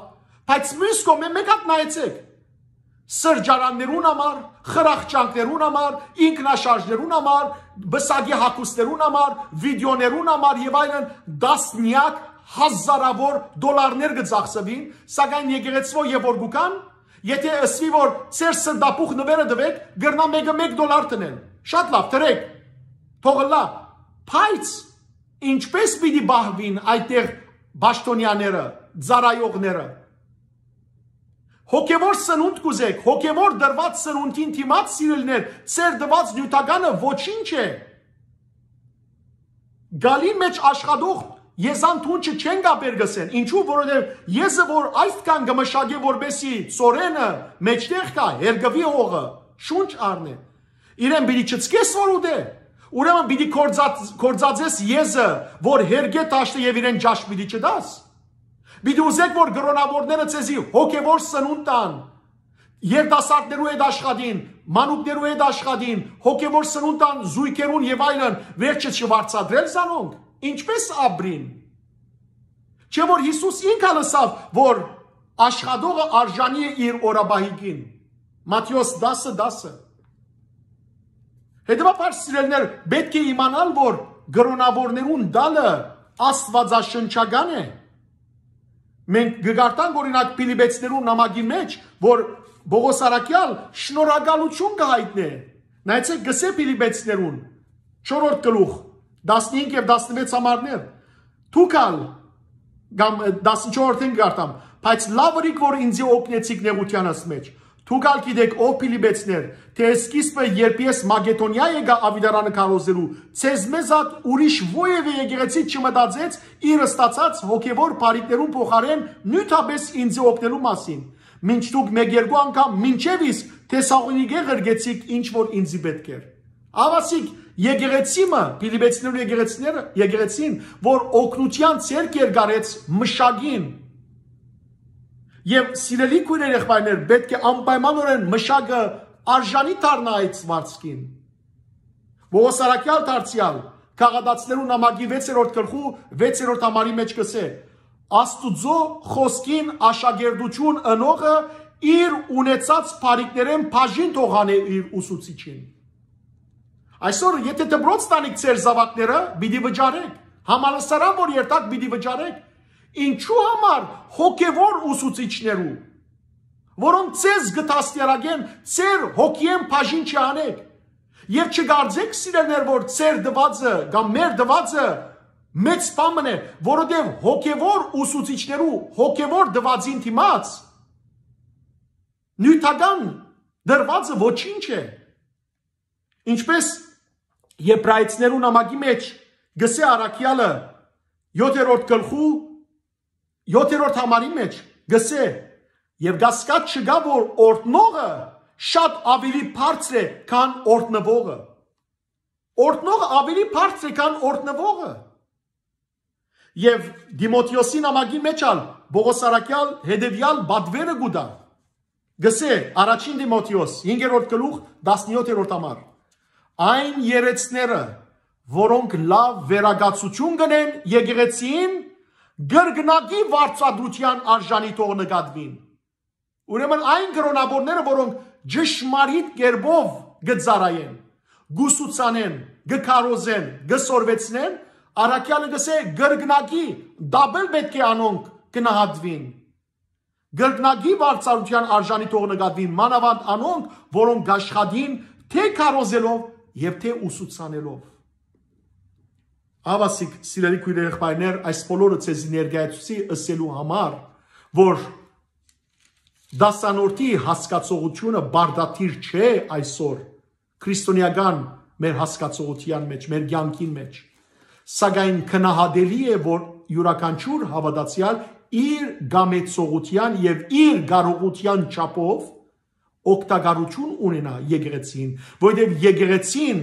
բայց միւս կողմէ, մեկ հատ նայեցէք, սրճարաններուն համար, խրախճանքներուն համար, ինքնաշարժներուն համար, պսակի հագուստներուն համար, վիդեոներուն համար եւ այլն, տասնեակ հազարաւոր դոլարներ կը ծախսուին, սակայն եկեղեցւոյ երբ որ կու գան, եթէ ըսուի, որ ձեր սրտաբուխ նուէրը տուէք, կրնայ մէկը մէկ դոլար տնեն։ Շատ լաւ, տրեք, թող ըլլայ, բայց ինչպէ՞ս պիտի պահուին այդտեղ պաշտօնեաները, ծառայողները։ Հոգեւոր սնունդ կ'ուզէք, հոգեւոր տրուած սնունդին դիմաց, սիրելիներ, ձեր տուած նիւթականը ոչինչ է։ Գալին մէջ աշխատող եզան դունչը չեն կապեր, կ'ըսեն։ Ինչու՞, որովհետեւ եզը, որ այսքան կը մշակէ, որպէսզի ծորենը մէջտեղ գայ, հերկուի հողը, շունչ առնէ, իրեն պիտի չծկես, որ ուտէ։ Ուրեմն պիտի գործած-, գործածես եզը, որ հերկէ դաշտը, եւ իրեն ճաշ պիտի չտաս։ Պիտի ուզէք, որ կրոնաւորները ձեզի հոգեւոր սնունդ տան, երիտասարդներու հետ աշխատին, մանուկներու հետ աշխատին, հոգեւոր սնունդ տան զոյգերուն եւ այլն, վերջը չվարձատրե՞լ զանոնք։ Ինչպէ՞ս ապրին։ Չէ՞ որ Յիսուս ինք ալ ըսաւ, որ աշխատողը արժանի է իր օրապահիկին։ Մատթէոս տասը տասը։ Հետեւաբար, սիրելիներ, պէտք է իմանալ, որ կրոնաւորներուն տալը աստուածաշնչական է։ Մենք կը կարդանք, օրինակ, Փիլիպեցիներուն նամակի մէջ, որ Պողոս առաքեալ շնորհակալութիւն կը յայտնէ։ Նայեցէք, կ'ըսէ Փիլիպեցիներուն, չորրորդ գլուխ, տասնհինգ եւ տասնվեց համարներ. «Դուք ալ», կամ, ը, տասնչորրորդէն կը կարդամ, «բայց լաւ ըրիք, որ ինձի օգնեցիք նեղութեանս մէջ։ Դուք ալ գիտէք, ով Փիլիպեցիներ, թէ սկիզբը, երբ ես Մակեդոնիա եկայ աւիտարանը քարոզելու, ձեզմէ զատ ուրիշ որեւէ եկեղեցի չմտածեց իր ստացած հոգեւոր բարիքներուն փոխարէն նիւթապէս ինծի օգնելու մասին, մինչ դուք մէկ երկու անգամ մինչեւ իսկ Թեսաղոնիկէ ղրկեցիք ինչ որ ինծի պէտք էր։ Ահա ասիկա, եկեղեցի մը, Փիլիպեցիներու եկեղեցիները, եկեղեցին, որ օգնութեան ձեռք երկարեց մշակին։ Եւ սիրելի քոյրեր, եղբայրներ, պէտք է անպայմանօրէն մշակը արժանի դառնայ այդ վարձքին։ Պողոս առաքեալ դարձեալ Գաղատացիներու նամակի վեցերորդ գլխու վեցերորդ համարի մէջ կ'ըսէ. «Աստուծոյ խօսքին աշակերտութիւն ընողը իր ունեցած բարիքներէն բաժին թող անէ իր ուսուցիչին»։ Այսօր, եթե դպրոց տանիք ձեր զաւակները, պիտի վճարեք, համալսարան որ երթաք, պիտի վճարեք։ Ինչու համար հոգեվոր ուսուցիչներու, որոնք ձեզ կը դաստիարակեն, ձեր հոգիէն բաժին չանեք։ Եւ չկարծեք, սիրելիներ, որ ձեր տուածը կամ մեր տուածը մեծ բան մըն է, որովհետեւ հոգեվոր ուսուցիչներու, հոգեվոր տուածին դիմաց նիւթական դրուածը ոչինչ է։ Ինչպես Եբրայեցիներու նամակի մէջ գսե առաքեալը, յոթերորդ գլխու, յոթերորդ համարի մէջ գսե. «Եւ կասկած չկայ, որ օրհնողը շատ աւելի բարձր է, քան օրհնուողը»։ Օրհնողը աւելի բարձր է, քան օրհնուողը։ Եւ Տիմոթէոսի նամակի մէջ ալ Պողոս առաքեալ հետեւեալ պատվերը կու տայ։ Գսե առաջին Տիմոթէոս, հինգերորդ գլուխ, տասնյոթերորդ համար. «Այն երեցները, որոնք լաւ վերակացութիւն կ'ընեն եկեղեցին, կրկնակի վարձատրութեան արժանի թող նկատուին»։ Ուրեմն այն կրօնավորները, որոնք ճշմարիտ կերպով կը ծառայեն, կ'ուսուցանեն, կը քարոզեն, կը սորվեցնեն, առաքեալը կ'ըսէ, կրկնակի, double պէտք է անոնք գնահատուին։ Կրկնակի վարձատրութեան արժանի թող նկատուին, մանաւանդ անոնք, որոնք կ'աշխատին թէ քարոզելով եւ թէ ուսուցանելով։ Ահա ասիկա, սիրելի քոյրեր, եղբայրներ, այս բոլորը ձեզի ներկայացուցի ըսելու համար, որ դասանորդի հասկացողութիւնը պարտադիր չէ այսօր քրիստոնեական մեր հասկացողութեան մէջ, մեր կեանքին մէջ, սակայն գնահատելի է, որ իւրաքանչիւր հաւատացեալ իր կամեցողութեան եւ իր կարողութեան չափով օգտակարութիւն ունենայ եկեղեցին, որովհետեւ եկեղեցին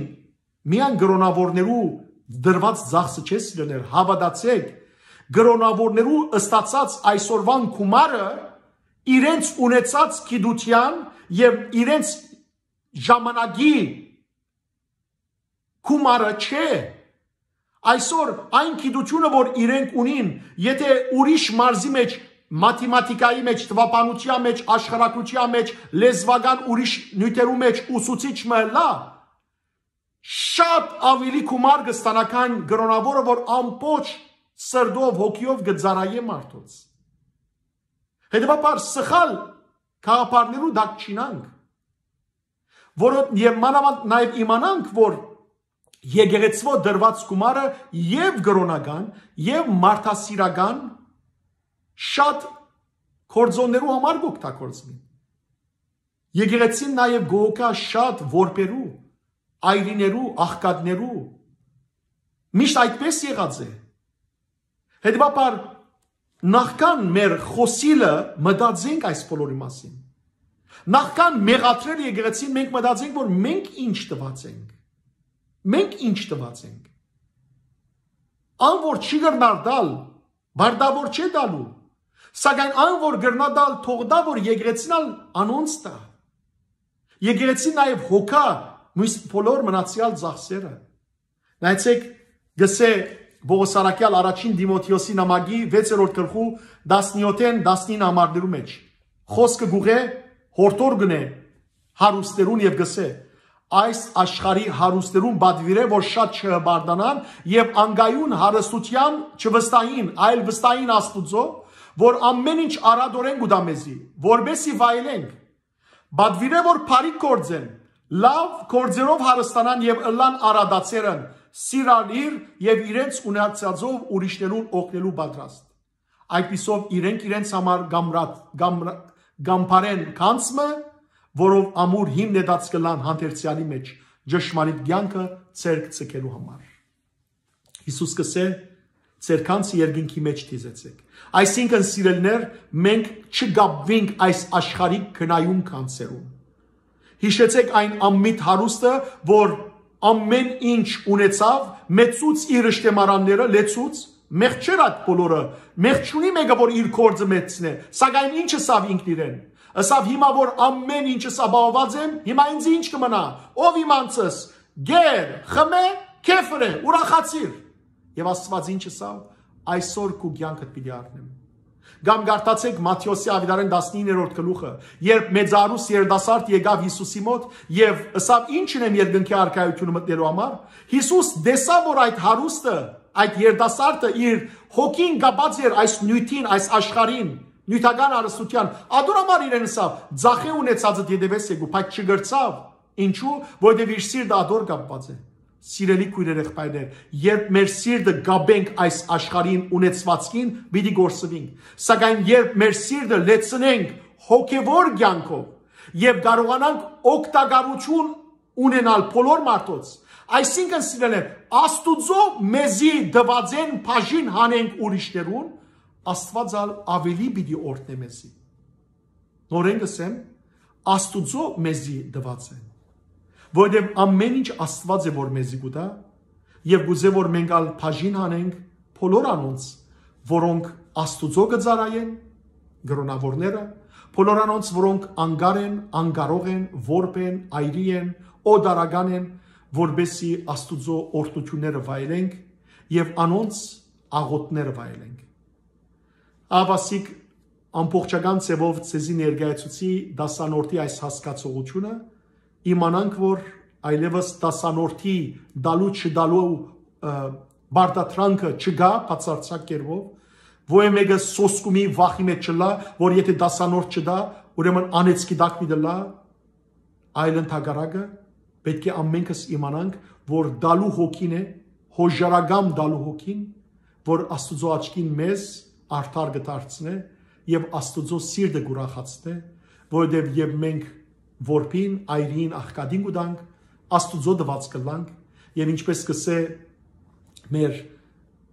միայն կրօնավորներու տրուած ծախսը չէ, սիրելիներ, հաւատացէք, կրօնավորներու ստացած այսօրուան գումարը իրենց ունեցած գիտութեան եւ իրենց ժամանակի գումարը չէ։ Այսօր այն գիտութիւնը, որ իրենք ունին, եթե ուրիշ մարզի մէջ, մաթեմատիկայի մէջ, թուաբանության մէջ, աշխարհագրության մէջ, լեզուական ուրիշ նիւթերու մէջ ուսուցիչ մը ըլլայ, շատ աւելի գումար կը ստանայ, քան կրօնավորը, որ ամբողջ սրտով, հոգիով կը ծառայէ մարդոց։ Հետեւաբար, սխալ գաղափարներու տակ չիյնանք, որ, եւ մանաւանդ նաեւ իմանանք, որ եկեղեցւոյ տրուած գումարը եւ կրօնական, եւ մարդասիրական շատ գործոններու համար կ'օգտագործուին։ Եկեղեցին նաեւ կ'օգնէ շատ որբերու, այրիներու, աղքատներու։ Միշտ այդպես եղած է։ Հետեւաբար, նախքան մեր խօսիլը մտածենք այս բոլորի մասին։ Նախքան մեղադրել եկեղեցին, մենք մտածենք, որ մենք ինչ տված ենք։ Մենք ինչ տված ենք։ Ան որ չի կրնար տալ, բարդավոր չէ տալու, սակայն ան որ կրնայ տալ, թող տայ, որ եկեղեցին ալ անոնց տայ։ Եկեղեցին նաեւ հոգայ մյուս բոլոր մնացեալ ծախսերը։ Նայեցեք, գսե Պողոս առաքեալ առաջին Տիմոթէոսի նամակի վեցերորդ գլխու տասնյոթ-ին տասնինը համարներու մէջ։ Խօսքը կ'ուղղէ, յորդոր կ'ընէ հարուստներուն եւ գսէ. «Այս աշխարհի հարուստներուն պատուիրէ, որ շատ չհպարտանան եւ անկայուն հարստութեան չվստահին, այլ վստահին Աստուծոյ, որ ամէն ինչ արատորեն կու տայ մեզի, որպեսզի վայելենք։ Պատուիրէ, որ բարի գործեն, լաւ գործերով հարստանան եւ ըլլան արատացերն, սիրալիր եւ իրենց ունեցածով ուրիշներուն օգնելու պատրաստ։ Այդպիսով իրենք իրենց համար կամրատ-, կամր-, կամբարեն գանձ մը, որով ամուր հիմնետած կլան հանդերձեալի մեջ ճշմարիտ կեանքը ձեռք ձգելու համար։ Յիսուս կ'ըսէ. «Ձեր գանձը երկնքի մեջ դիզեցէք»։ Այսինքն, սիրելիներ, մենք չկապուինք այս աշխարհի կնայուն գանձերուն։ Յիշեցէք այն անմիտ հարուստը, որ ամեն ինչ ունեցաւ, մեծուց իր ըշտեմարանները, լեցուց, մեղք չէր այդ բոլորը, մեղք չունի մեկը, որ իր գործը մեծցնէ, սակայն ինչ ըսաւ ինքն իրեն։ Ըսաւ. «Հիմա որ ամեն ինչս ապահոված եմ, հիմա ինձ ինչ կը մնայ, ով իմ անձս, կեր, խմէ, քեֆ ըրէ, ուրախացիր»։ Եւ Աստուած ինչ ըսաւ. «Այսօր քու կեանքդ պիտի առնեմ»։ Կամ կարդացէք Մատթէոսի Աւետարան տասնիններորդ գլուխը, երբ մեծարուս երիտասարդ եկաւ Յիսուսի մօտ եւ ըսաւ. «Ի՞նչ ընեմ երկնքի արքայութիւնը մտնելու համար»։ Յիսուս տեսաւ, որ այդ հարուստը, այդ երիտասարդը իր հոգին կապած էր այս նիւթին, այս աշխարհին, նիւթական հարստութեան։ Ատոր համար իրեն ըսաւ. «Ձախէ ունեցածդ ետեւէս եկու», բայց չկրցաւ։ Ինչու՞, որովհետեւ իր սիրտը ատոր կապված է։ Սիրելի քոյրեր, եղբայրներ, երբ մեր սիրտը կապենք այս աշխարհին, ունեցվածքին, պիտի կորսուինք։ Սակայն երբ մեր սիրտը լեցնենք հոգեվոր կեանքով եւ կարողանանք օգտակարություն ունենալ բոլոր մարդոց, այսինքն, սիրելիներ, Աստուծոյ մեզի տուածէն բաժին հանենք ուրիշներուն, Աստուած ալ աւելի պիտի օրհնէ մեզի։ Նորէն կ'ըսեմ, Աստուծոյ մեզի տուած են, որովհետեւ ամեն ինչ Աստուած է, որ մեզի կու տայ, եւ կ'ուզէ, որ մենք ալ բաժին հանենք բոլոր անոնց, որոնք Աստուծոյ կը ծառայեն, կրօնաւորները, բոլոր անոնց, որոնք անկար են, անկարող են, որբ են, այրի են, օտարական են, որպեսզի Աստուծոյ օրհնութիւնները վայելենք եւ անոնց աղօթքները վայելենք։ Ահա ասիկ, ամբողջական ձեւով ձեզի ներկայացուցի դասանորդի այս հասկացողութիւնը, իմանանք, որ այլեւս դասանորդի տալու չտալու, ը, պարտադրանքը չկայ բացարձակ կերպով, որեւէ մէկը սոսկումի վախի մեջ չլայ, որ եթէ դասանորդ չտայ, ուրեմն անեծքի տակ պիտի լայ, այլ ընդհակառակը, պէտք է ամենքս իմանանք, որ տալու հոգին է, հոժարակամ տալու հոգին, որ Աստուծոյ աչքին մեզ արդար կը դարձնէ եւ Աստուծոյ սիրտը կ'ուրախացնէ, որովհետեւ երբ մենք որբին, այրին, աղքատին կու տանք, Աստուծոյ տուած կ'ըլլանք, եւ ինչպես կ'ըսէ մեր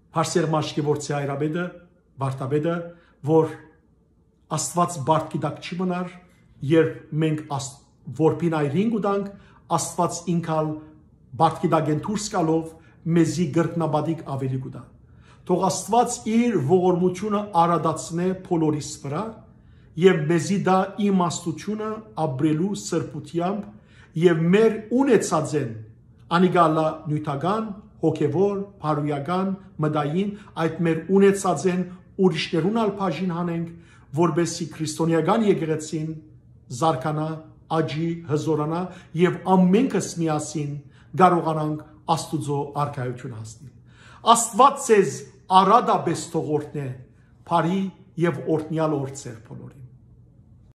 Բարսեղմ Աշկեւորցի հայրապետը, վարդապետը, որ Աստուած պարտքի տակ չի մնար, երբ մենք Ast-, որբին այրին կու տանք, Աստուած ինք ալ պարտքի տակէն դուրս գալով մեզի կրկնապատիկ աւելի կու տայ։ Թող Աստուած իր ողորմութիւնը արատացնէ բոլորիս վրայ եւ մեզի տայ իմաստութիւնը ապրելու սրբութեամբ եւ մեր ունեցածէն, անիկա ըլլայ նիւթական, հոգեւոր, բարոյական, մտային, այդ մեր ունեցածէն ուրիշներուն ալ բաժին հանենք, որպեսզի քրիստոնեական եկեղեցին զարգանայ, աճի, հզորանայ եւ ամենքս միասին կարողանանք Աստուծոյ արքայութիւն հասնիլ։ Աստուած ձեզ արատապէս թող օրհնէ, բարի եւ օրհնեալ օր ձեր բոլորին։